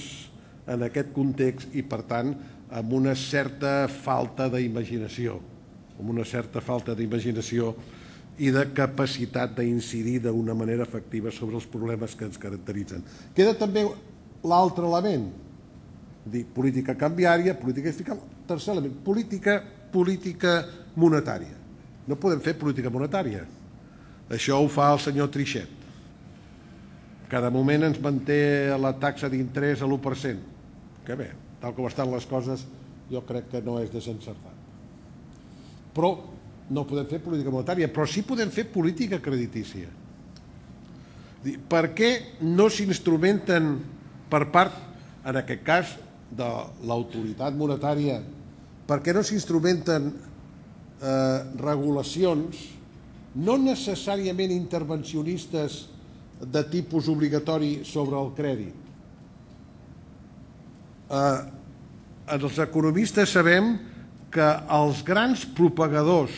en aquest context i, per tant, amb una certa falta d'imaginació, amb una certa falta d'imaginació i de capacitat d'incidir d'una manera efectiva sobre els problemes que ens caracteritzen. Queda també l'altre element, dir política canviària, política fiscal, tercer element, política, política monetària. No podem fer política monetària. Això ho fa el senyor Trichet. Cada moment ens manté la taxa d'interès a l'u per cent. Que bé, tal com estan les coses, jo crec que no és desencertat. Però no podem fer política monetària, però sí podem fer política creditícia. Per què no s'instrumenten per part, en aquest cas, de l'autoritat monetària, per què no s'instrumenten regulacions no necessàriament intervencionistes de tipus obligatori sobre el crèdit? Els economistes sabem que els grans propagadors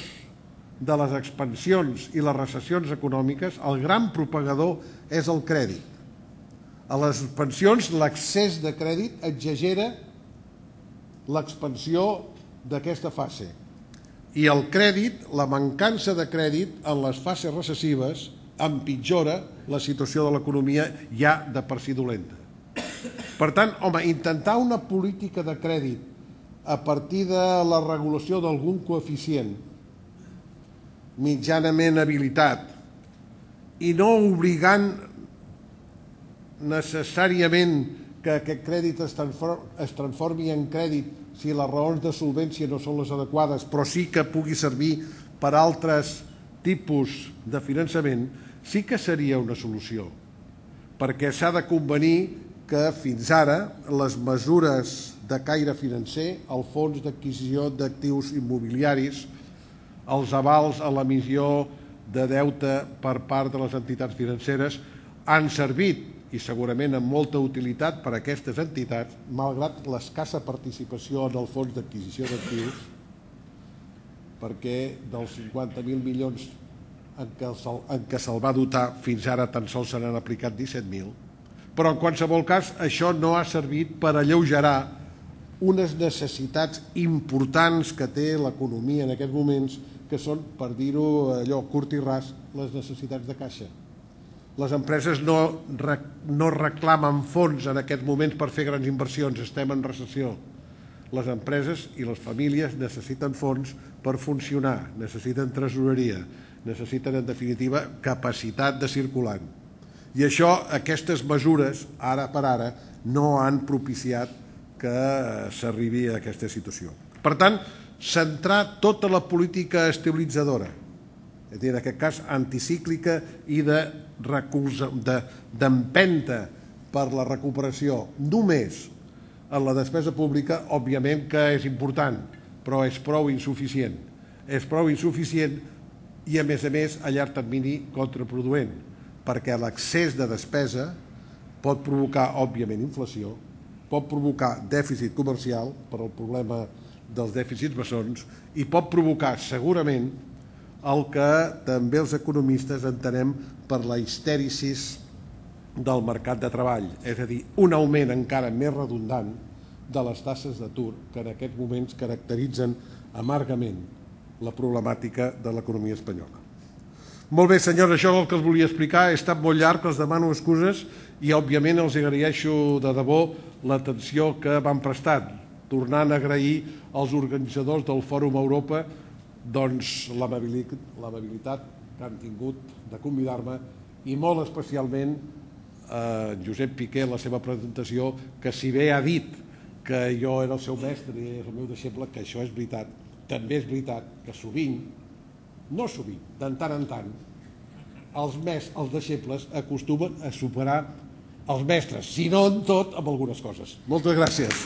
de les expansions i les recessions econòmiques, el gran propagador és el crèdit. A les pensions l'excés de crèdit exagera l'expansió d'aquesta fase. I el crèdit, la mancança de crèdit en les fases recessives empitjora la situació de l'economia ja de per si dolenta. Per tant, home, intentar una política de crèdit a partir de la regulació d'algun coeficient mitjanament habilitat i no obligant necessàriament que aquest crèdit es transformi en crèdit si les raons de solvència no són les adequades, però sí que pugui servir per altres tipus de finançament, sí que seria una solució, perquè s'ha de convenir que fins ara les mesures de caire financer, el fons d'adquisició d'actius immobiliaris, els avals a l'emissió de deute per part de les entitats financeres han servit i segurament amb molta utilitat per a aquestes entitats, malgrat l'escassa participació en el fons d'adquisició d'actius, perquè dels cinquanta mil milions en què se'l va dotar fins ara tan sols se n'han aplicat disset mil, però en qualsevol cas això no ha servit per alleugerar unes necessitats importants que té l'economia en aquests moments, que són, per dir-ho allò curt i ras, les necessitats de caixa. Les empreses no, no reclamen fons en aquests moments per fer grans inversions, estem en recessió. Les empreses i les famílies necessiten fons per funcionar, necessiten tresoreria, necessiten en definitiva capacitat de circulant. I això, aquestes mesures, ara per ara, no han propiciat que s'arribi a aquesta situació. Per tant, centrar tota la política estabilitzadora, és a dir, en aquest cas anticíclica i d'empenta per la recuperació només en la despesa pública, òbviament que és important, però és prou insuficient. És prou insuficient i, a més a més, a llarg termini contraproduent, perquè l'excés de despesa pot provocar, òbviament, inflació, pot provocar dèficit comercial per al problema dels dèficits bessons i pot provocar, segurament, el que també els economistes entenem per la histèrisis del mercat de treball, és a dir, un augment encara més redundant de les taxes d'atur que en aquests moments caracteritzen amargament la problemàtica de l'economia espanyola. Molt bé, senyors, això és el que els volia explicar. He estat molt llarg, els demano excuses i, òbviament, els agraeixo de debò l'atenció que m'han prestat, tornant a agrair als organitzadors del Fòrum Europa doncs l'amabilitat que han tingut de convidar-me i molt especialment a Josep Piqué, la seva presentació, que si bé ha dit que jo era el seu mestre i és el meu deixeble, que això és veritat. També és veritat que sovint, no sovint, de tant en tant, els els deixebles acostumen a superar els mestres, si no en tot, amb algunes coses. Moltes gràcies.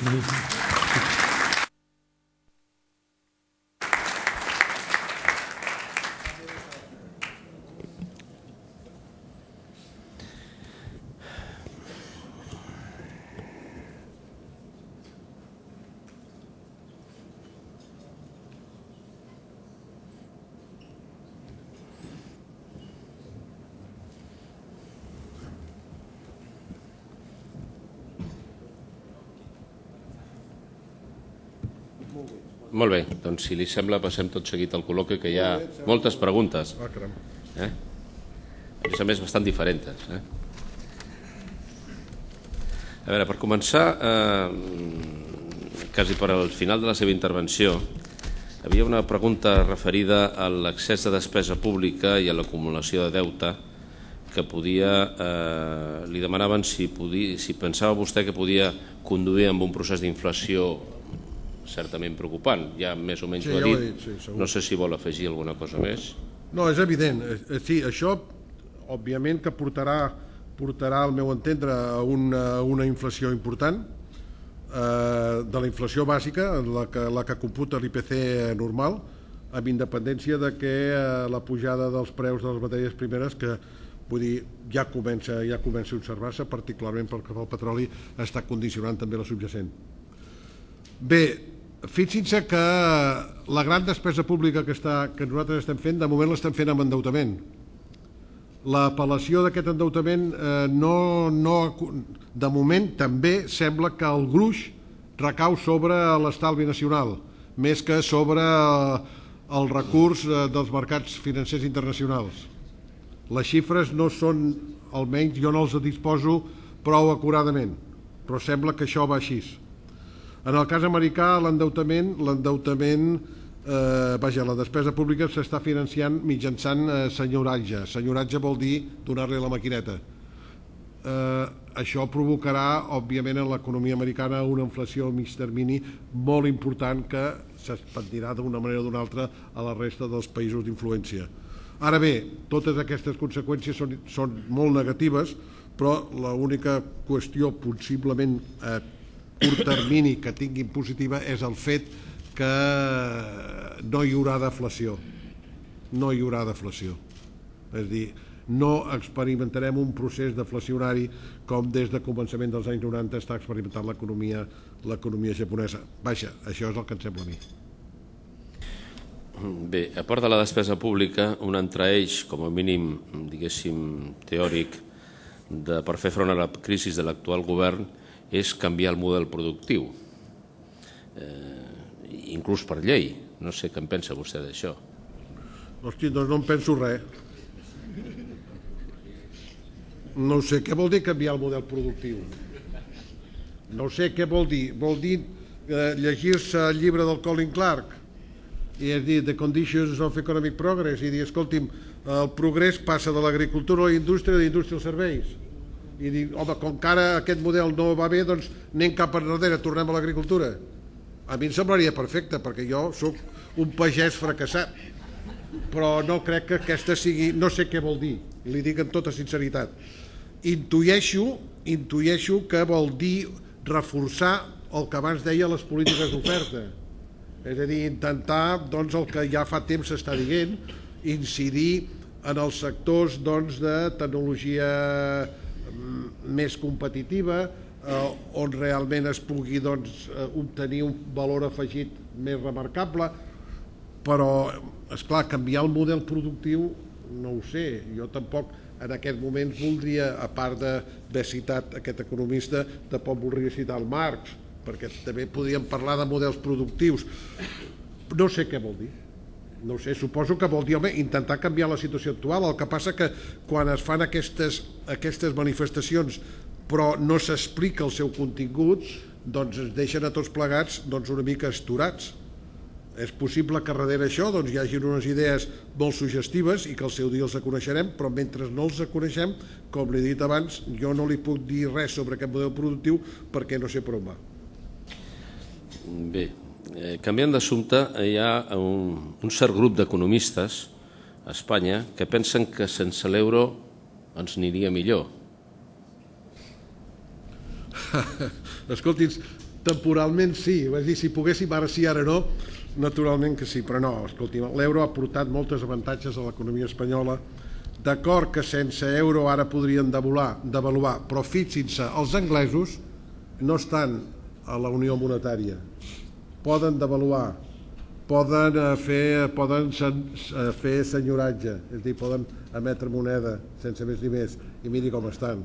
Molt bé, doncs si li sembla passem tot seguit al col·loqui, que hi ha moltes preguntes. Eh? A més a més bastant diferents. Eh? A veure, per començar, eh, quasi per al final de la seva intervenció, havia una pregunta referida a l'excés de despesa pública i a l'acumulació de deute que podia, eh, li demanaven si, podia, si pensava vostè que podia conduir amb un procés d'inflació certament preocupant, ja més o menys sí, ho ha ja dit, ho he dit sí, no sé si vol afegir alguna cosa més. No, és evident, sí, això òbviament que portarà, portarà al meu entendre a una, una inflació important, eh, de la inflació bàsica, la que, la que computa l'I P C normal, amb independència de que eh, la pujada dels preus de les matèries primeres, que vull dir, ja comença, ja comença a observar-se, particularment pel que fa al petroli, està condicionant també la subjacent. Bé, fixin-se que la gran despesa pública que, està, que nosaltres estem fent, de moment l'estem fent amb endeutament. l'apel·lació d'aquest endeutament no, no, de moment també sembla que el gruix recau sobre l'estalvi nacional, més que sobre el recurs dels mercats financers internacionals. Les xifres no són, almenys jo no els disposo prou acuradament, però sembla que això va així. En el cas americà, l'endeutament, l'endeutament, eh, vaja, la despesa pública s'està financiant mitjançant eh, senyoratge. Senyoratge vol dir donar-li la maquineta. Eh, això provocarà, òbviament, en l'economia americana una inflació a mig termini molt important que s'expandirà d'una manera o d'una altra a la resta dels països d'influència. Ara bé, totes aquestes conseqüències són, són molt negatives, però l'única qüestió possiblement a curt termini que tinguin positiva és el fet que no hi haurà deflació. No hi haurà deflació. És a dir, no experimentarem un procés deflacionari com des de començament dels anys noranta està experimentant l'economia l'economia japonesa. Vaja, això és el que em sembla a mi. Bé, a part de la despesa pública, un altre eix, com a mínim, diguéssim, teòric, de, per fer front a la crisi de l'actual govern, és canviar el model productiu, eh, inclús per llei. No sé què en pensa vostè d'això. Hosti, doncs no en penso res. No sé què vol dir canviar el model productiu. No sé què vol dir. Vol dir eh, llegir-se el llibre del Colin Clark i és dir, The Conditions of Economic Progress, i dir, escolti'm, el progrés passa de l'agricultura a la indústria, de la indústria als serveis. I dir, home, com que ara aquest model no va bé, doncs anem cap enrere, tornem a l'agricultura. A mi em semblaria perfecte, perquè jo sóc un pagès fracassat, però no crec que aquesta sigui... No sé què vol dir, li dic amb tota sinceritat. Intueixo, intueixo que vol dir reforçar el que abans deia les polítiques d'oferta. És a dir, intentar, doncs, el que ja fa temps s'està dient, incidir en els sectors, doncs, de tecnologia més competitiva, eh, on realment es pugui, doncs, obtenir un valor afegit més remarcable, però, esclar, canviar el model productiu, no ho sé, jo tampoc en aquest moment voldria, a part d'haver citat aquest economista, tampoc voldria citar el Marx, perquè també podríem parlar de models productius. No sé què vol dir. No sé, suposo que vol dir, home, intentar canviar la situació actual. El que passa que quan es fan aquestes, aquestes manifestacions però no s'explica el seu contingut, doncs es deixen a tots plegats doncs, una mica esturats. És possible que darrere això doncs, hi hagi unes idees molt suggestives i que al seu dia els coneixerem, però mentre no els coneixem, com li he dit abans, jo no li puc dir res sobre aquest model productiu perquè no sé per on va. Bé, eh, canviant d'assumpte, hi ha un, un cert grup d'economistes a Espanya que pensen que sense l'euro ens aniria millor. Escolti'ns, temporalment sí, és dir, si poguéssim ara sí, ara no, naturalment que sí, però no, escolti'm, l'euro ha portat moltes avantatges a l'economia espanyola. D'acord que sense euro ara podrien devaluar, devaluar, però fixin-se, els anglesos no estan a la Unió Monetària, poden devaluar, poden fer, poden fer senyoratge, és a dir, poden emetre moneda sense més ni més, i miri com estan.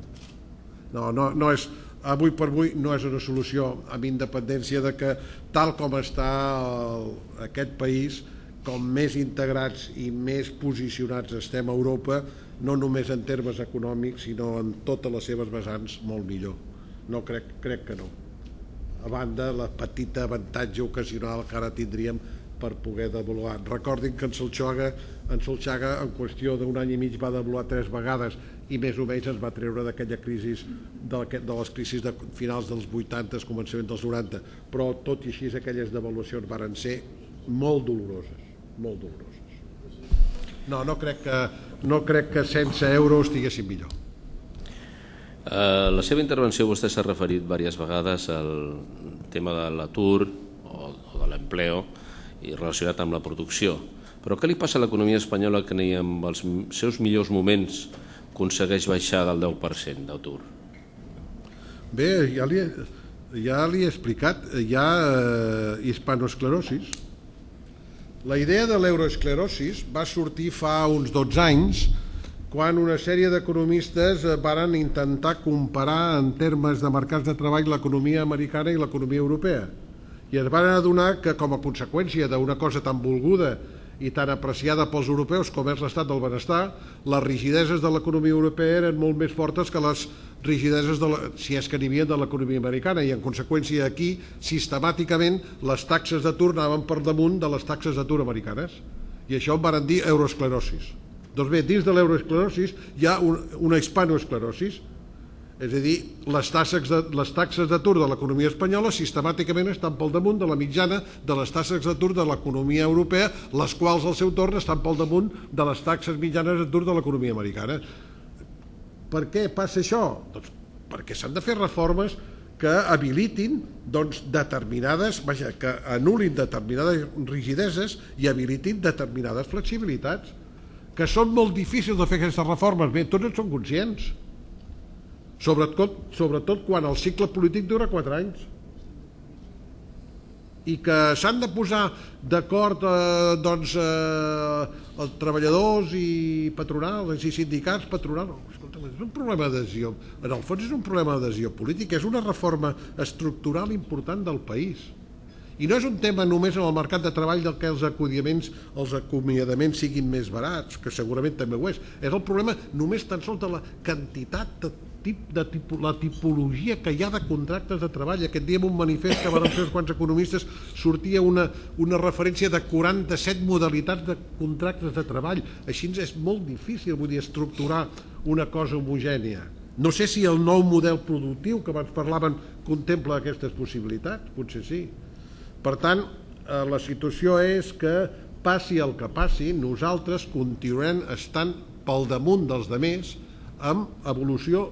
No, no, no és, avui per avui no és una solució, amb independència de que tal com està el, aquest país, com més integrats i més posicionats estem a Europa, no només en termes econòmics, sinó en totes les seves vessants, molt millor. No, crec, crec que no. A banda, la petita avantatge ocasional que ara tindríem per poder devaluar. Recordin que en Solchaga, en Solchaga en qüestió d'un any i mig va devaluar tres vegades i més o menys ens va treure d'aquella crisi, de les crisis de finals dels vuitanta, començament dels noranta, però tot i així aquelles devaluacions varen ser molt doloroses, molt doloroses. No, no crec que, no crec que sense euro estiguéssim millor. A la seva intervenció vostè s'ha referit diverses vegades al tema de l'atur o de l'empleo i relacionat amb la producció. Però què li passa a l'economia espanyola que ni en els seus millors moments aconsegueix baixar del deu per cent d'atur? Bé, ja li, ja li he explicat, hi ha eh, hispanoesclerosis. La idea de l'euroesclerosis va sortir fa uns dotze anys quan una sèrie d'economistes varen intentar comparar en termes de mercats de treball l'economia americana i l'economia europea. I es van adonar que, com a conseqüència d'una cosa tan volguda i tan apreciada pels europeus com és l'estat del benestar, les rigideses de l'economia europea eren molt més fortes que les rigideses, de la, si és que n'hi havia, de l'economia americana, i en conseqüència aquí, sistemàticament, les taxes d'atur anaven per damunt de les taxes d'atur americanes. I això en van dir euroesclerosis. Doncs bé, dins de l'euroesclerosis hi ha un, una hispanoesclerosis. És a dir, les taxes de, les taxes d'atur de l'economia espanyola sistemàticament estan pel damunt de la mitjana de les taxes d'atur de l'economia europea, les quals al seu torn estan pel damunt de les taxes mitjanes d'atur de l'economia americana. Per què passa això? Doncs perquè s'han de fer reformes que habilitin doncs, determinades, vaja, que anul·lin determinades rigideses i habilitin determinades flexibilitats, que són molt difícils de fer aquestes reformes. Bé, tots en són conscients. Sobretot, sobretot quan el cicle polític dura quatre anys i que s'han de posar d'acord eh, doncs, eh, els treballadors i patronals i sindicats patronals. Escolta, és un problema d'adhesió, en el fons és un problema d'adhesió política, és una reforma estructural important del país. I no és un tema només en el mercat de treball del que els acomiadaments, els acomiadaments siguin més barats, que segurament també ho és. És el problema només tan sols de la quantitat de de tipo, la tipologia que hi ha de contractes de treball. Aquest dia en un manifest que van fer uns quants economistes sortia una, una referència de quaranta-set modalitats de contractes de treball. Així és molt difícil, vull dir, estructurar una cosa homogènia. No sé si el nou model productiu que abans parlaven contempla aquestes possibilitats, potser sí. Per tant, eh, la situació és que passi el que passi, nosaltres continuem estant pel damunt dels altres amb evolució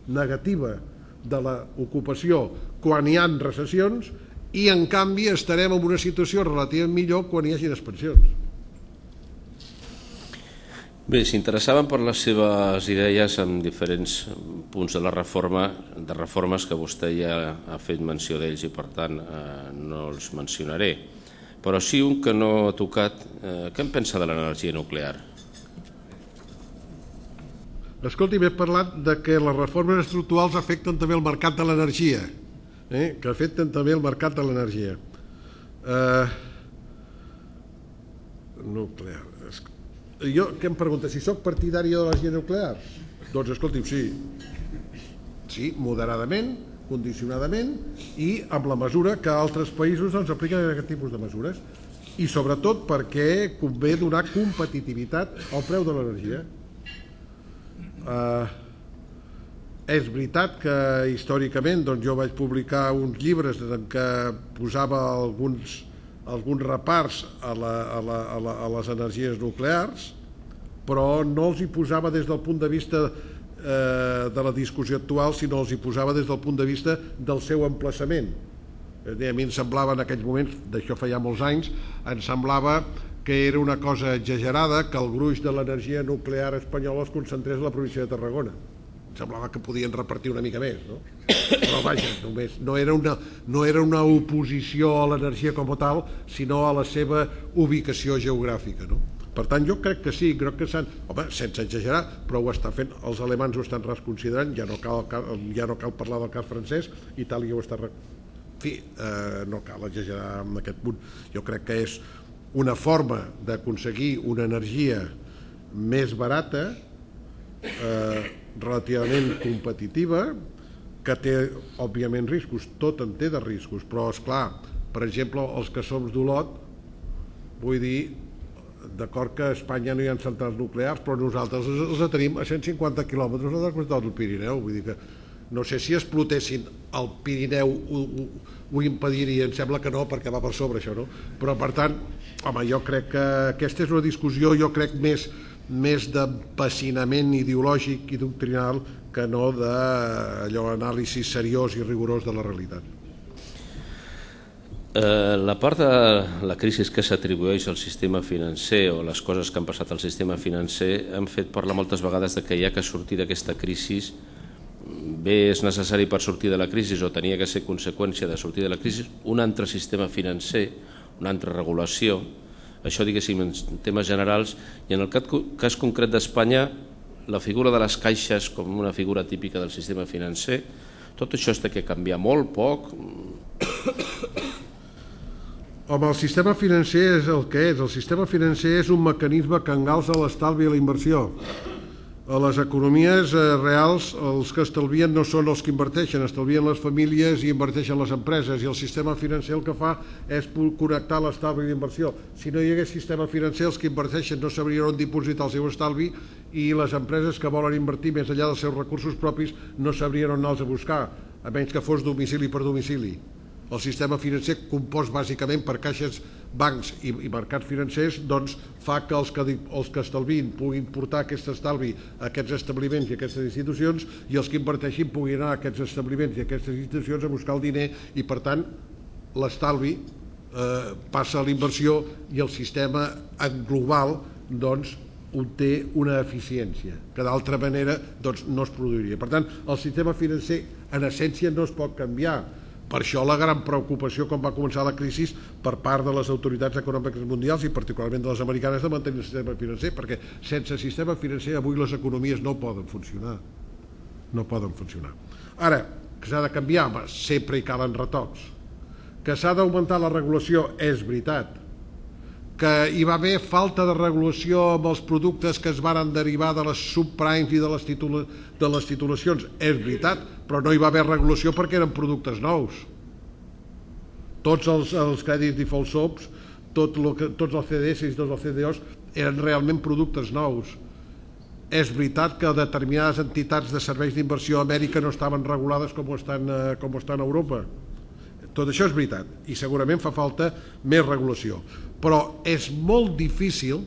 negativa de l'ocupació quan hi ha recessions i en canvi estarem en una situació relativament millor quan hi hagi expansions. Bé, s'interessaven per les seves idees en diferents punts de la reforma, de reformes que vostè ja ha fet menció d'ells i per tant eh, no els mencionaré. Però sí un que no ha tocat, eh, què en pensa de l'energia nuclear? Escolti, m'he parlat de que les reformes estructurals afecten també el mercat de l'energia, eh? que afecten també el mercat de l'energia. Eh, nuclear. Jo, què em pregunta? Si sóc partidari de l'energia nuclear? Doncs escolti, sí. Sí, moderadament, condicionadament i amb la mesura que altres països doncs, apliquen aquest tipus de mesures. I sobretot perquè convé donar competitivitat al preu de l'energia. Uh, és veritat que històricament doncs, jo vaig publicar uns llibres en què posava alguns, alguns repars a, la, a, la, a, la, a les energies nuclears, però no els hi posava des del punt de vista eh, de la discussió actual, sinó els hi posava des del punt de vista del seu emplaçament. A mi em semblava en aquells moments, d'això feia molts anys, em semblava que era una cosa exagerada que el gruix de l'energia nuclear espanyola es concentrés a la província de Tarragona. Em semblava que podien repartir una mica més, no? Però vaja, només, no, era una, no era una oposició a l'energia com a tal, sinó a la seva ubicació geogràfica, no? Per tant, jo crec que sí, crec que s'han... Home, sense exagerar, però ho està fent, els alemans ho estan reconsiderant, ja no cal, ja no cal parlar del cas francès, Itàlia ho està... En fi, eh, no cal exagerar en aquest punt. Jo crec que és una forma d'aconseguir una energia més barata, eh, relativament competitiva, que té, òbviament, riscos. Tot en té de riscos, però, esclar, per exemple, els que som d'Olot, vull dir, d'acord que a Espanya no hi ha centrals nuclears, però nosaltres els tenim a cent cinquanta quilòmetres de la costa del Pirineu, vull dir que no sé si explotessin el Pirineu ho, ho, ho impediria, em sembla que no, perquè va per sobre això, no? Però per tant, home, jo crec que aquesta és una discussió, jo crec, més, més d'empassinament ideològic i doctrinal que no d'allò anàlisi seriós i rigorós de la realitat. Eh, la part de la crisi que s'atribueix al sistema financer o les coses que han passat al sistema financer han fet parlar moltes vegades de que hi ha que sortir d'aquesta crisi. Bé, és necessari per sortir de la crisi o tenia que ser conseqüència de sortir de la crisi un altre sistema financer, una altra regulació, això diguéssim en temes generals, i en el cas concret d'Espanya la figura de les caixes com una figura típica del sistema financer, tot això té que canviar molt, poc? Home, el sistema financer és el que és. El sistema financer és un mecanisme que engalça l'estalvi i la inversió. A les economies reals els que estalvien no són els que inverteixen, estalvien les famílies i inverteixen les empreses, i el sistema financer el que fa és connectar l'estalvi i l'inversió. Si no hi hagués sistema financer, els que inverteixen no sabrien on dipositar el seu estalvi i les empreses que volen invertir més enllà dels seus recursos propis no sabrien on anar-los a buscar, a menys que fos domicili per domicili. El sistema financer, compost bàsicament per caixes, bancs i, i mercats financers, doncs fa que els, que els que estalvin puguin portar aquest estalvi a aquests establiments i a aquestes institucions, i els que inverteixin puguin anar a aquests establiments i a aquestes institucions a buscar el diner, i per tant l'estalvi eh, passa a l'inversió i el sistema en global doncs obté una eficiència que d'altra manera doncs, no es produiria. Per tant, el sistema financer en essència no es pot canviar. Per això la gran preocupació quan va començar la crisi per part de les autoritats econòmiques mundials i particularment de les americanes de mantenir el sistema financer, perquè sense sistema financer avui les economies no poden funcionar. No poden funcionar. Ara, que s'ha de canviar, sempre hi calen retocs. Que s'ha d'augmentar la regulació, és veritat. Que hi va haver falta de regulació amb els productes que es van derivar de les subprimes i de les, titula, de les titulacions, és veritat, però no hi va haver regulació perquè eren productes nous. Tots els, els crèdits default swaps, tot lo que, tots els C D S i tots els C D Os eren realment productes nous. És veritat que determinades entitats de serveis d'inversió a Amèrica no estaven regulades com ho estan, com ho estan a Europa. Tot això és veritat, i segurament fa falta més regulació. Però és molt difícil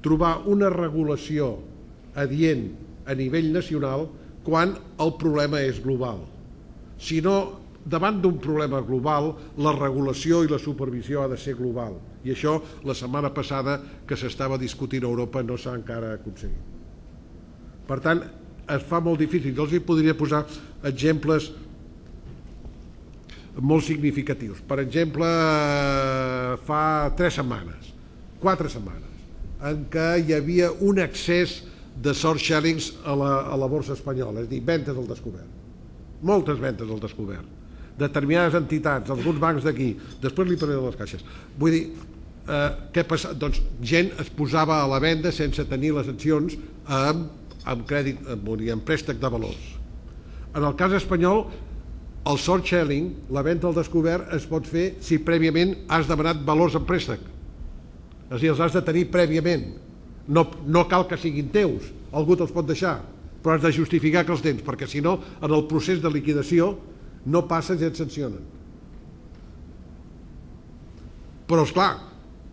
trobar una regulació adient a nivell nacional quan el problema és global. Si no, davant d'un problema global, la regulació i la supervisió ha de ser global. I això, la setmana passada que s'estava discutint a Europa, no s'ha encara aconseguit. Per tant, es fa molt difícil. Jo els hi podria posar exemples molt significatius. Per exemple, fa tres setmanes, quatre setmanes, en què hi havia un excés de short sellings a la, a la borsa espanyola, és a dir, ventes al descobert. Moltes ventes al descobert. Determinades entitats, alguns bancs d'aquí, després li parlaré de les caixes. Vull dir, eh, què passa? Doncs gent es posava a la venda sense tenir les accions amb, amb crèdit, amb, amb préstec de valors. En el cas espanyol, el short selling, la venda al descobert, es pot fer si prèviament has demanat valors en préstec. És a dir, els has de tenir prèviament. No, no cal que siguin teus, algú te'ls pot deixar, però has de justificar que els tens, perquè si no, en el procés de liquidació no passen i et sancionen. Però, esclar,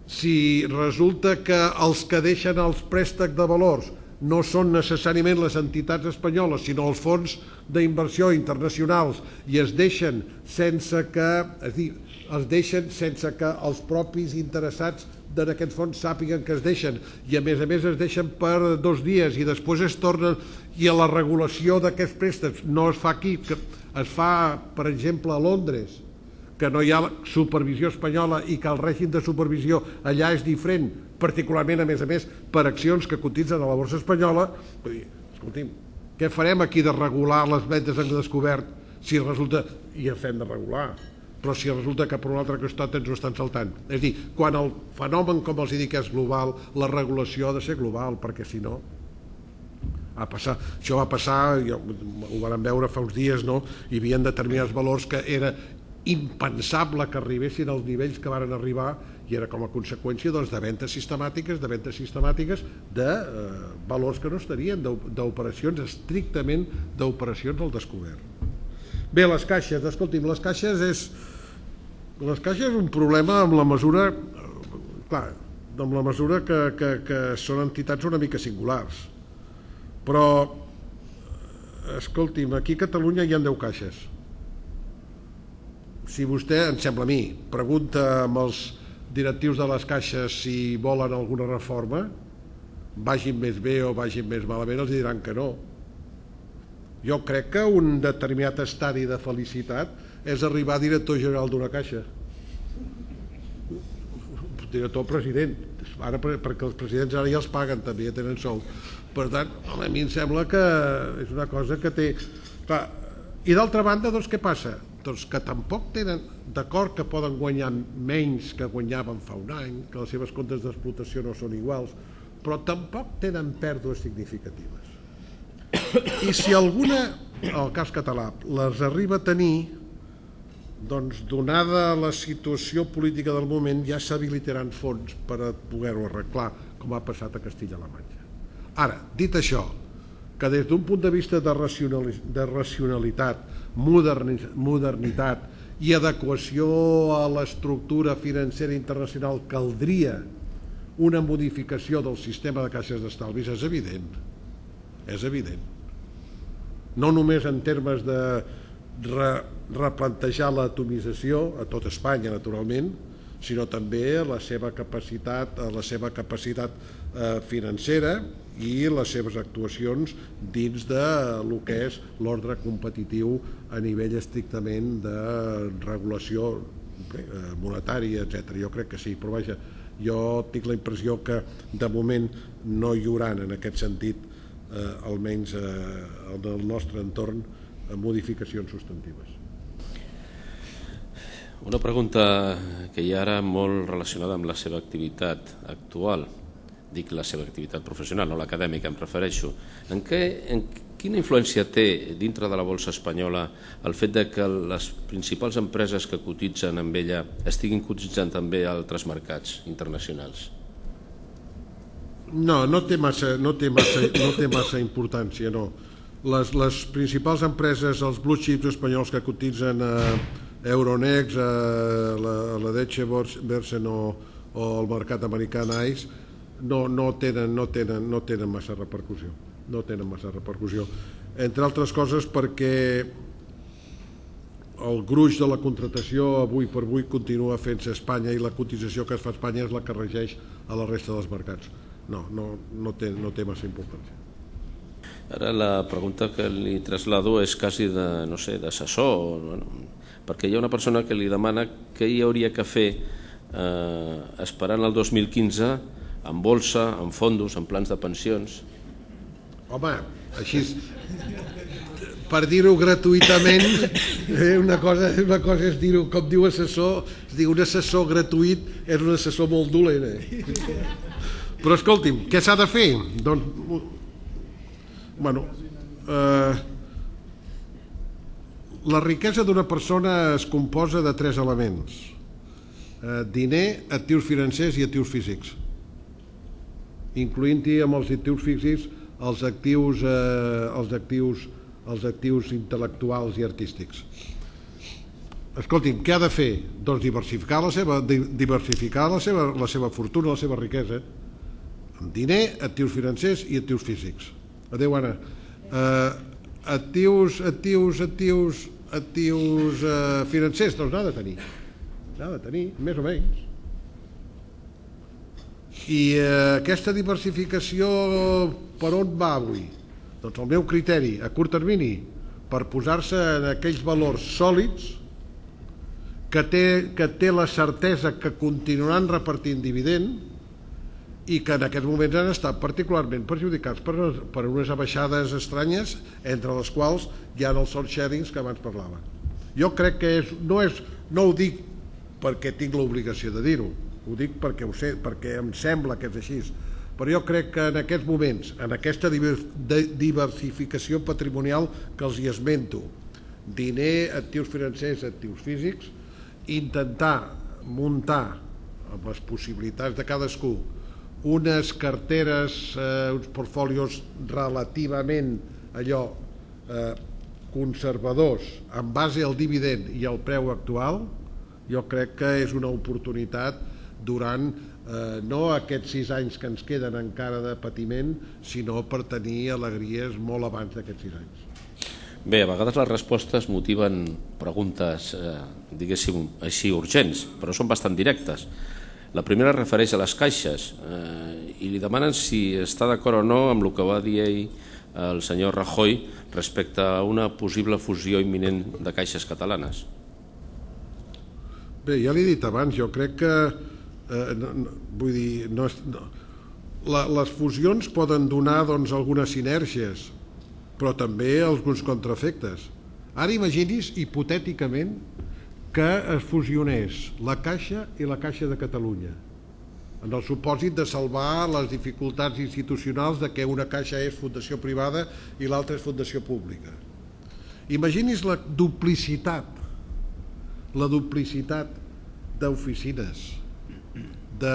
si resulta que els que deixen els préstecs de valors no són necessàriament les entitats espanyoles, sinó els fons d'inversió internacionals, i es deixen sense que, és dir, es deixen sense que els propis interessats en aquests fons sàpiguen que es deixen, i a més a més es deixen per dos dies i després es tornen, i a la regulació d'aquests préstecs no es fa aquí, que es fa, per exemple, a Londres, que no hi ha supervisió espanyola i que el règim de supervisió allà és diferent, particularment, a més a més, per accions que cotitzen a la borsa espanyola. Vull dir, escolti'm, què farem aquí de regular les ventes en descobert si resulta, i ens hem de regular, però si resulta que per un altre costat ens ho estan saltant? És a dir, quan el fenomen, com els dic, és global, la regulació ha de ser global, perquè si no... A passar. Això va passar, jo, ho vam veure fa uns dies, no? Hi havia determinats valors que era impensable que arribessin als nivells que varen arribar, i era com a conseqüència doncs, de ventes sistemàtiques, de ventes sistemàtiques de eh, valors que no estarien, d'operacions estrictament d'operacions al descobert. Bé, les caixes, escolti'm, les caixes és les caixes és un problema amb la mesura, clar, amb la mesura que, que, que són entitats una mica singulars. Però, escolti'm, aquí a Catalunya hi ha deu caixes. Si vostè, em sembla a mi, pregunta amb els directius de les caixes si volen alguna reforma, vagin més bé o vagin més malament, els diran que no. Jo crec que un determinat estadi de felicitat és arribar a director general d'una caixa. Director president, ara perquè els presidents ara ja els paguen també, ja tenen sou. Per tant, home, a mi em sembla que és una cosa que té... Clar, i d'altra banda, doncs què passa? Doncs que tampoc tenen, d'acord que poden guanyar menys que guanyaven fa un any, que les seves comptes d'explotació no són iguals, però tampoc tenen pèrdues significatives. I si alguna, el cas català, les arriba a tenir, doncs donada la situació política del moment ja s'habilitaran fons per a poder-ho arreglar, com ha passat a Castilla-La Manxa. Ara, dit això, que des d'un punt de vista de racionalitat, modernitat i adequació a l'estructura financera internacional caldria una modificació del sistema de caixes d'estalvis, és evident. És evident. No només en termes de replantejar l'atomització a tot Espanya, naturalment, sinó també la seva capacitat, la seva capacitat financera i les seves actuacions dins del que és l'ordre competitiu a nivell estrictament de regulació monetària, etcètera. Jo crec que sí, però vaja, jo tinc la impressió que de moment no hi haurà en aquest sentit, almenys en el nostre entorn, modificacions substantives. Una pregunta que hi ha ara molt relacionada amb la seva activitat actual, dic la seva activitat professional, no l'acadèmica em refereixo. En què, en quina influència té dintre de la borsa espanyola el fet de que les principals empreses que cotitzen amb ella estiguin cotitzant també a altres mercats internacionals? No, no té massa, no té massa, no té massa importància, no. Les, les principals empreses, els blue chips espanyols que cotitzen a Euronext, a la, a la Deutsche Börse o, o al mercat americà NYSE, no, no, tenen, no, tenen, no tenen massa repercussió. No tenen massa repercussió. Entre altres coses perquè el gruix de la contratació avui per avui continua fent-se a Espanya i la cotització que es fa a Espanya és la que regeix a la resta dels mercats. No, no, no, té, no té massa importància. Ara la pregunta que li traslado és quasi de, no sé, d'assessor, bueno, perquè hi ha una persona que li demana què hi hauria que fer eh, esperant el dos mil quinze en bolsa, en fondos, en plans de pensions. Home, així, per dir-ho gratuïtament, eh, una, cosa, una cosa és dir-ho, com diu assessor, es diu un assessor gratuït és un assessor molt dolent. Eh? Però escolti'm, què s'ha de fer? Doncs, bueno, eh, la riquesa d'una persona es composa de tres elements: eh, diner, actius financers i actius físics, incloent-hi amb els actius físics els actius, eh, els actius, els actius intel·lectuals i artístics. Escolti'm, què ha de fer? Doncs diversificar la seva, diversificar la seva, la seva fortuna, la seva riquesa, amb diner, actius financers i actius físics. Adéu, Anna. Eh, actius, actius, actius, actius eh, financers, doncs n'ha de tenir. N'ha de tenir, més o menys. I eh, aquesta diversificació per on va avui? Doncs el meu criteri, a curt termini, per posar-se en aquells valors sòlids que té, que té la certesa que continuaran repartint dividend i que en aquests moments han estat particularment perjudicats per, per unes abaixades estranyes, entre les quals hi ha els short sharings que abans parlava. Jo crec que és, no, és, no ho dic perquè tinc l'obligació de dir-ho, ho dic perquè, ho sé, perquè em sembla que és així, però jo crec que en aquests moments, en aquesta diversificació patrimonial que els hi esmento, diner, actius financers, actius físics, intentar muntar amb les possibilitats de cadascú unes carteres, eh, uns portfolios relativament allò eh, conservadors en base al dividend i al preu actual, jo crec que és una oportunitat durant eh, no aquests sis anys que ens queden encara de patiment, sinó per tenir alegries molt abans d'aquests sis anys. Bé, a vegades les respostes motiven preguntes, eh, diguéssim, així urgents, però són bastant directes. La primera refereix a les caixes eh, i li demanen si està d'acord o no amb el que va dir ell, el senyor Rajoy, respecte a una possible fusió imminent de caixes catalanes. Bé, ja l'he dit abans, jo crec que Eh, no, no, vull dir, no, no. La, les fusions poden donar doncs, algunes sinergies, però també alguns contraefectes. Ara imagini's, hipotèticament, que es fusionés la Caixa i la Caixa de Catalunya, en el supòsit de salvar les dificultats institucionals de que una caixa és fundació privada i l'altra és fundació pública. Imagini's la duplicitat, la duplicitat d'oficines, de,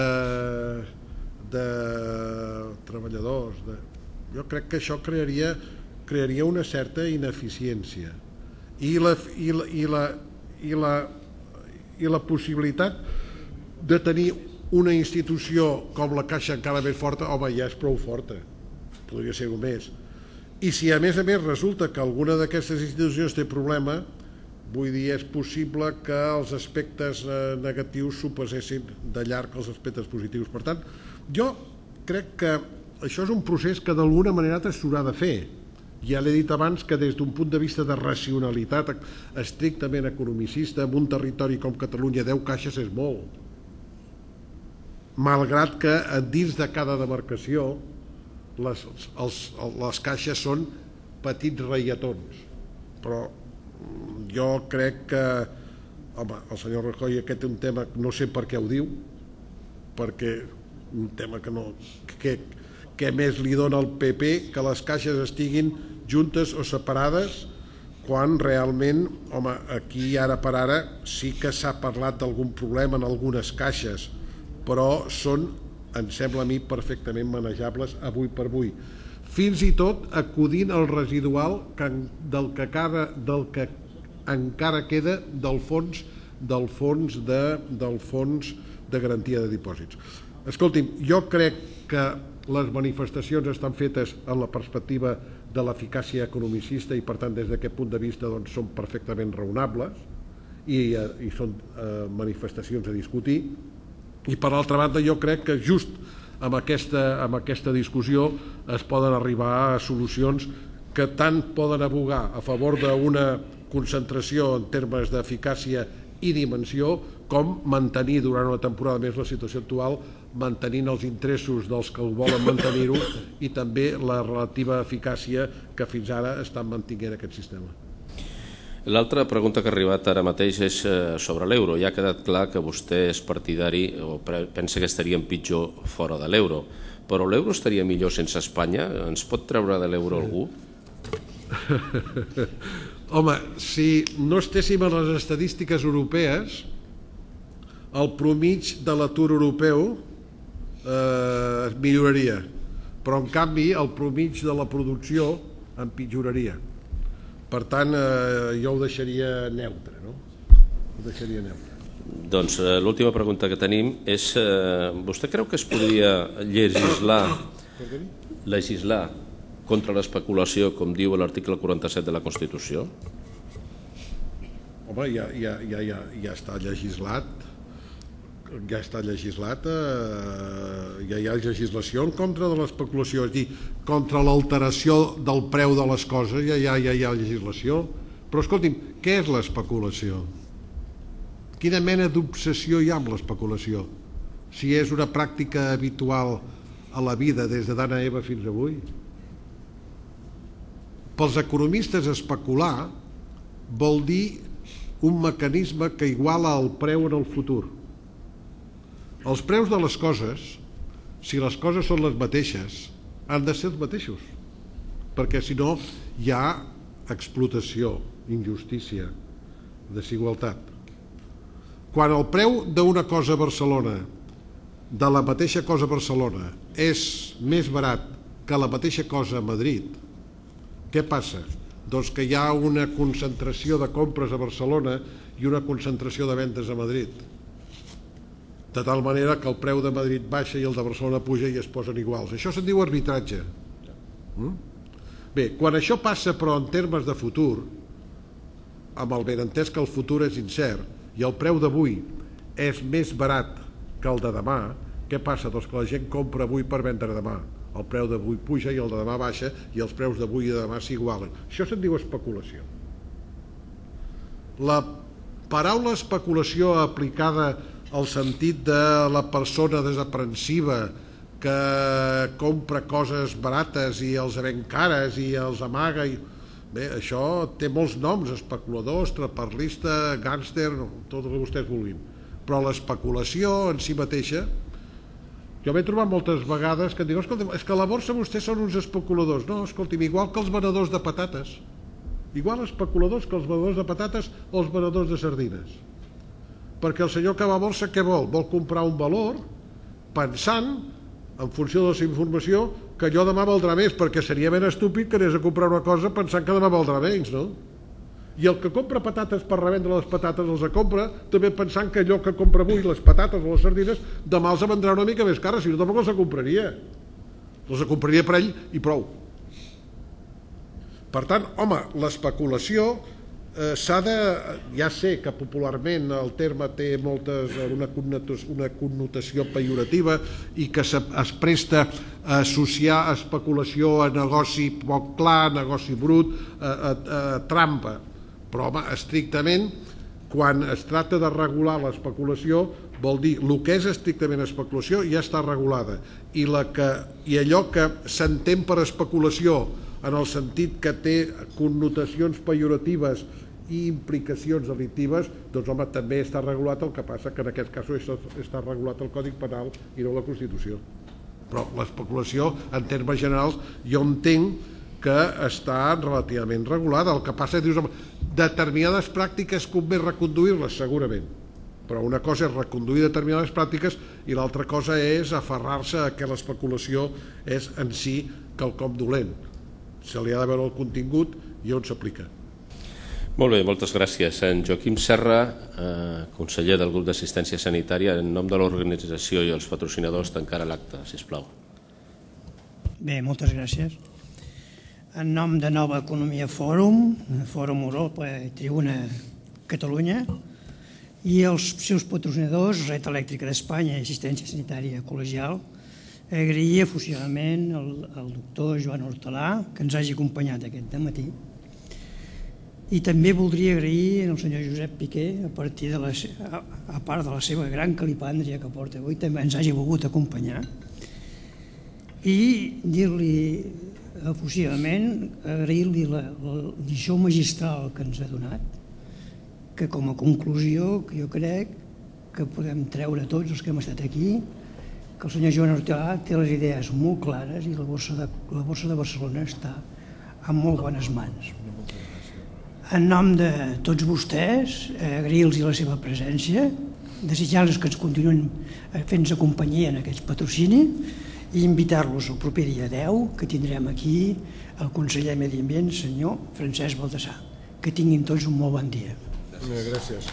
de treballadors. De... Jo crec que això crearia, crearia una certa ineficiència i la, i la, i la, i la, i la possibilitat de tenir una institució com la Caixa encara més forta, home, ja és prou forta, podria ser més. I si a més a més resulta que alguna d'aquestes institucions té problema, vull dir, és possible que els aspectes negatius superessin de llarg els aspectes positius. Per tant, jo crec que això és un procés que d'alguna manera s'haurà de fer. Ja l'he dit abans que des d'un punt de vista de racionalitat estrictament economicista, en un territori com Catalunya deu caixes és molt. Malgrat que dins de cada demarcació les, els, les caixes són petits reietons, però jo crec que, home, el senyor Rajoy aquest és un tema, no sé per què ho diu, perquè un tema que no, que, que més li dona al P P que les caixes estiguin juntes o separades, quan realment, home, aquí ara per ara sí que s'ha parlat d'algun problema en algunes caixes, però són, em sembla a mi, perfectament manejables avui per avui. Fins i tot acudint al residual que, del, que cara, del que encara queda del fons, del fons de, del fons de garantia de dipòsits. Escolti'm, jo crec que les manifestacions estan fetes en la perspectiva de l'eficàcia economicista i per tant des d'aquest punt de vista doncs, són perfectament raonables i, i són eh, manifestacions a discutir. I per altra banda jo crec que just amb aquesta, amb aquesta discussió es poden arribar a solucions que tant poden abogar a favor d'una concentració en termes d'eficàcia i dimensió com mantenir durant una temporada més la situació actual, mantenint els interessos dels que ho volen mantenir-ho i també la relativa eficàcia que fins ara estan mantenint aquest sistema. L'altra pregunta que ha arribat ara mateix és sobre l'euro. Ja ha quedat clar que vostè és partidari o pensa que estaríem pitjor fora de l'euro, però l'euro estaria millor sense Espanya? Ens pot treure de l'euro algú? Home, si no estéssim a les estadístiques europees, el promig de l'atur europeu eh, es milloraria, però en canvi el promig de la producció empitjoraria. Per tant, eh, jo ho deixaria neutre, no? Ho deixaria neutre. Doncs eh, l'última pregunta que tenim és, eh, vostè creu que es podria legislar, legislar contra l'especulació, com diu l'article quaranta-set de la Constitució? Home, ja, ja, ja, ja, ja està legislat, ja està legislat, eh, ja hi ha legislació en contra de l'especulació, és a dir, contra l'alteració del preu de les coses, ja, ja, ja hi ha legislació. Però escolti'm, què és l'especulació? Quina mena d'obsessió hi ha amb l'especulació? Si és una pràctica habitual a la vida des de d'Adam i Eva fins avui? Pels economistes, especular vol dir un mecanisme que iguala el preu en el futur. Els preus de les coses, si les coses són les mateixes, han de ser els mateixos, perquè si no hi ha explotació, injustícia, desigualtat. Quan el preu d'una cosa a Barcelona, de la mateixa cosa a Barcelona, és més barat que la mateixa cosa a Madrid, què passa? Doncs que hi ha una concentració de compres a Barcelona i una concentració de vendes a Madrid, de tal manera que el preu de Madrid baixa i el de Barcelona puja i es posen iguals. Això se'n diu arbitratge. Bé, quan això passa però en termes de futur, amb el benentès que el futur és incert i el preu d'avui és més barat que el de demà, què passa? Doncs que la gent compra avui per vendre demà. El preu d'avui puja i el de demà baixa i els preus d'avui i de demà s'igualen. Això se'n diu especulació. La paraula especulació aplicada el sentit de la persona desaprensiva que compra coses barates i els ven cares i els amaga. Bé, això té molts noms, especulador, estraperlista, gàngster, tot el que vostès vulguin. Però l'especulació en si mateixa, jo m'he trobat moltes vegades que em diuen, escolta, és que a la borsa vostès són uns especuladors. No, escolti'm, igual que els venedors de patates, igual especuladors que els venedors de patates o els venedors de sardines. Perquè el senyor que va a borsa, què vol? Vol comprar un valor pensant, en funció de la seva informació, que allò demà valdrà més, perquè seria ben estúpid que anés a comprar una cosa pensant que demà valdrà menys, no? I el que compra patates per revendre les patates els compra també pensant que allò que compra avui, les patates o les sardines, demà els vendrà una mica més cares, si no tampoc els compraria. Els compraria per ell i prou. Per tant, home, l'especulació eh, s'ha de... Ja sé que popularment el terme té moltes, una, connotació, una connotació pejorativa i que es, es presta a associar especulació a negoci poc clar, negoci brut, a, a, a trampa. Però, home, estrictament, quan es tracta de regular l'especulació, vol dir, el que és estrictament especulació ja està regulada. I, la que, i allò que s'entén per especulació en el sentit que té connotacions pejoratives i implicacions delictives, doncs, home, també està regulat, el que passa que en aquest cas està regulat el Codi Penal i no la Constitució. Però l'especulació, en termes generals, jo entenc que està relativament regulada. El que passa és que dius, home, determinades pràctiques convé reconduir-les, segurament, però una cosa és reconduir determinades pràctiques i l'altra cosa és aferrar-se a que l'especulació és en si quelcom dolent. Se li ha de veure el contingut i on s'aplica. Molt bé, moltes gràcies. En Joaquim Serra, eh, conseller del grup d'assistència sanitària, en nom de l'organització i els patrocinadors, tancarà l'acte, sisplau. Bé, moltes gràcies. En nom de Nova Economia Fòrum, Fòrum Europa i Tribuna Catalunya, i els seus patrocinadors, Red Elèctrica d'Espanya i Assistència Sanitària Col·legial, agrair efusivament al doctor Joan Hortalà que ens hagi acompanyat aquest dematí. I també voldria agrair al senyor Josep Piqué, a partir de la, a part de la seva gran calipàndria que porta avui, també ens hagi volgut acompanyar. I dir-li efusivament, agrair-li la, la lliçó magistral que ens ha donat, que com a conclusió que jo crec que podem treure tots els que hem estat aquí, que el senyor Joan Hortalà té les idees molt clares i la borsa de, la borsa de Barcelona està en molt bones mans. En nom de tots vostès, agrair-los la seva presència, desitjar-los que ens continuïn fent-nos companyia en aquest patrocini i invitar-los el proper dia deu, que tindrem aquí el conseller de Medi Ambient, senyor Francesc Baldassar. Que tinguin tots un molt bon dia. Gràcies.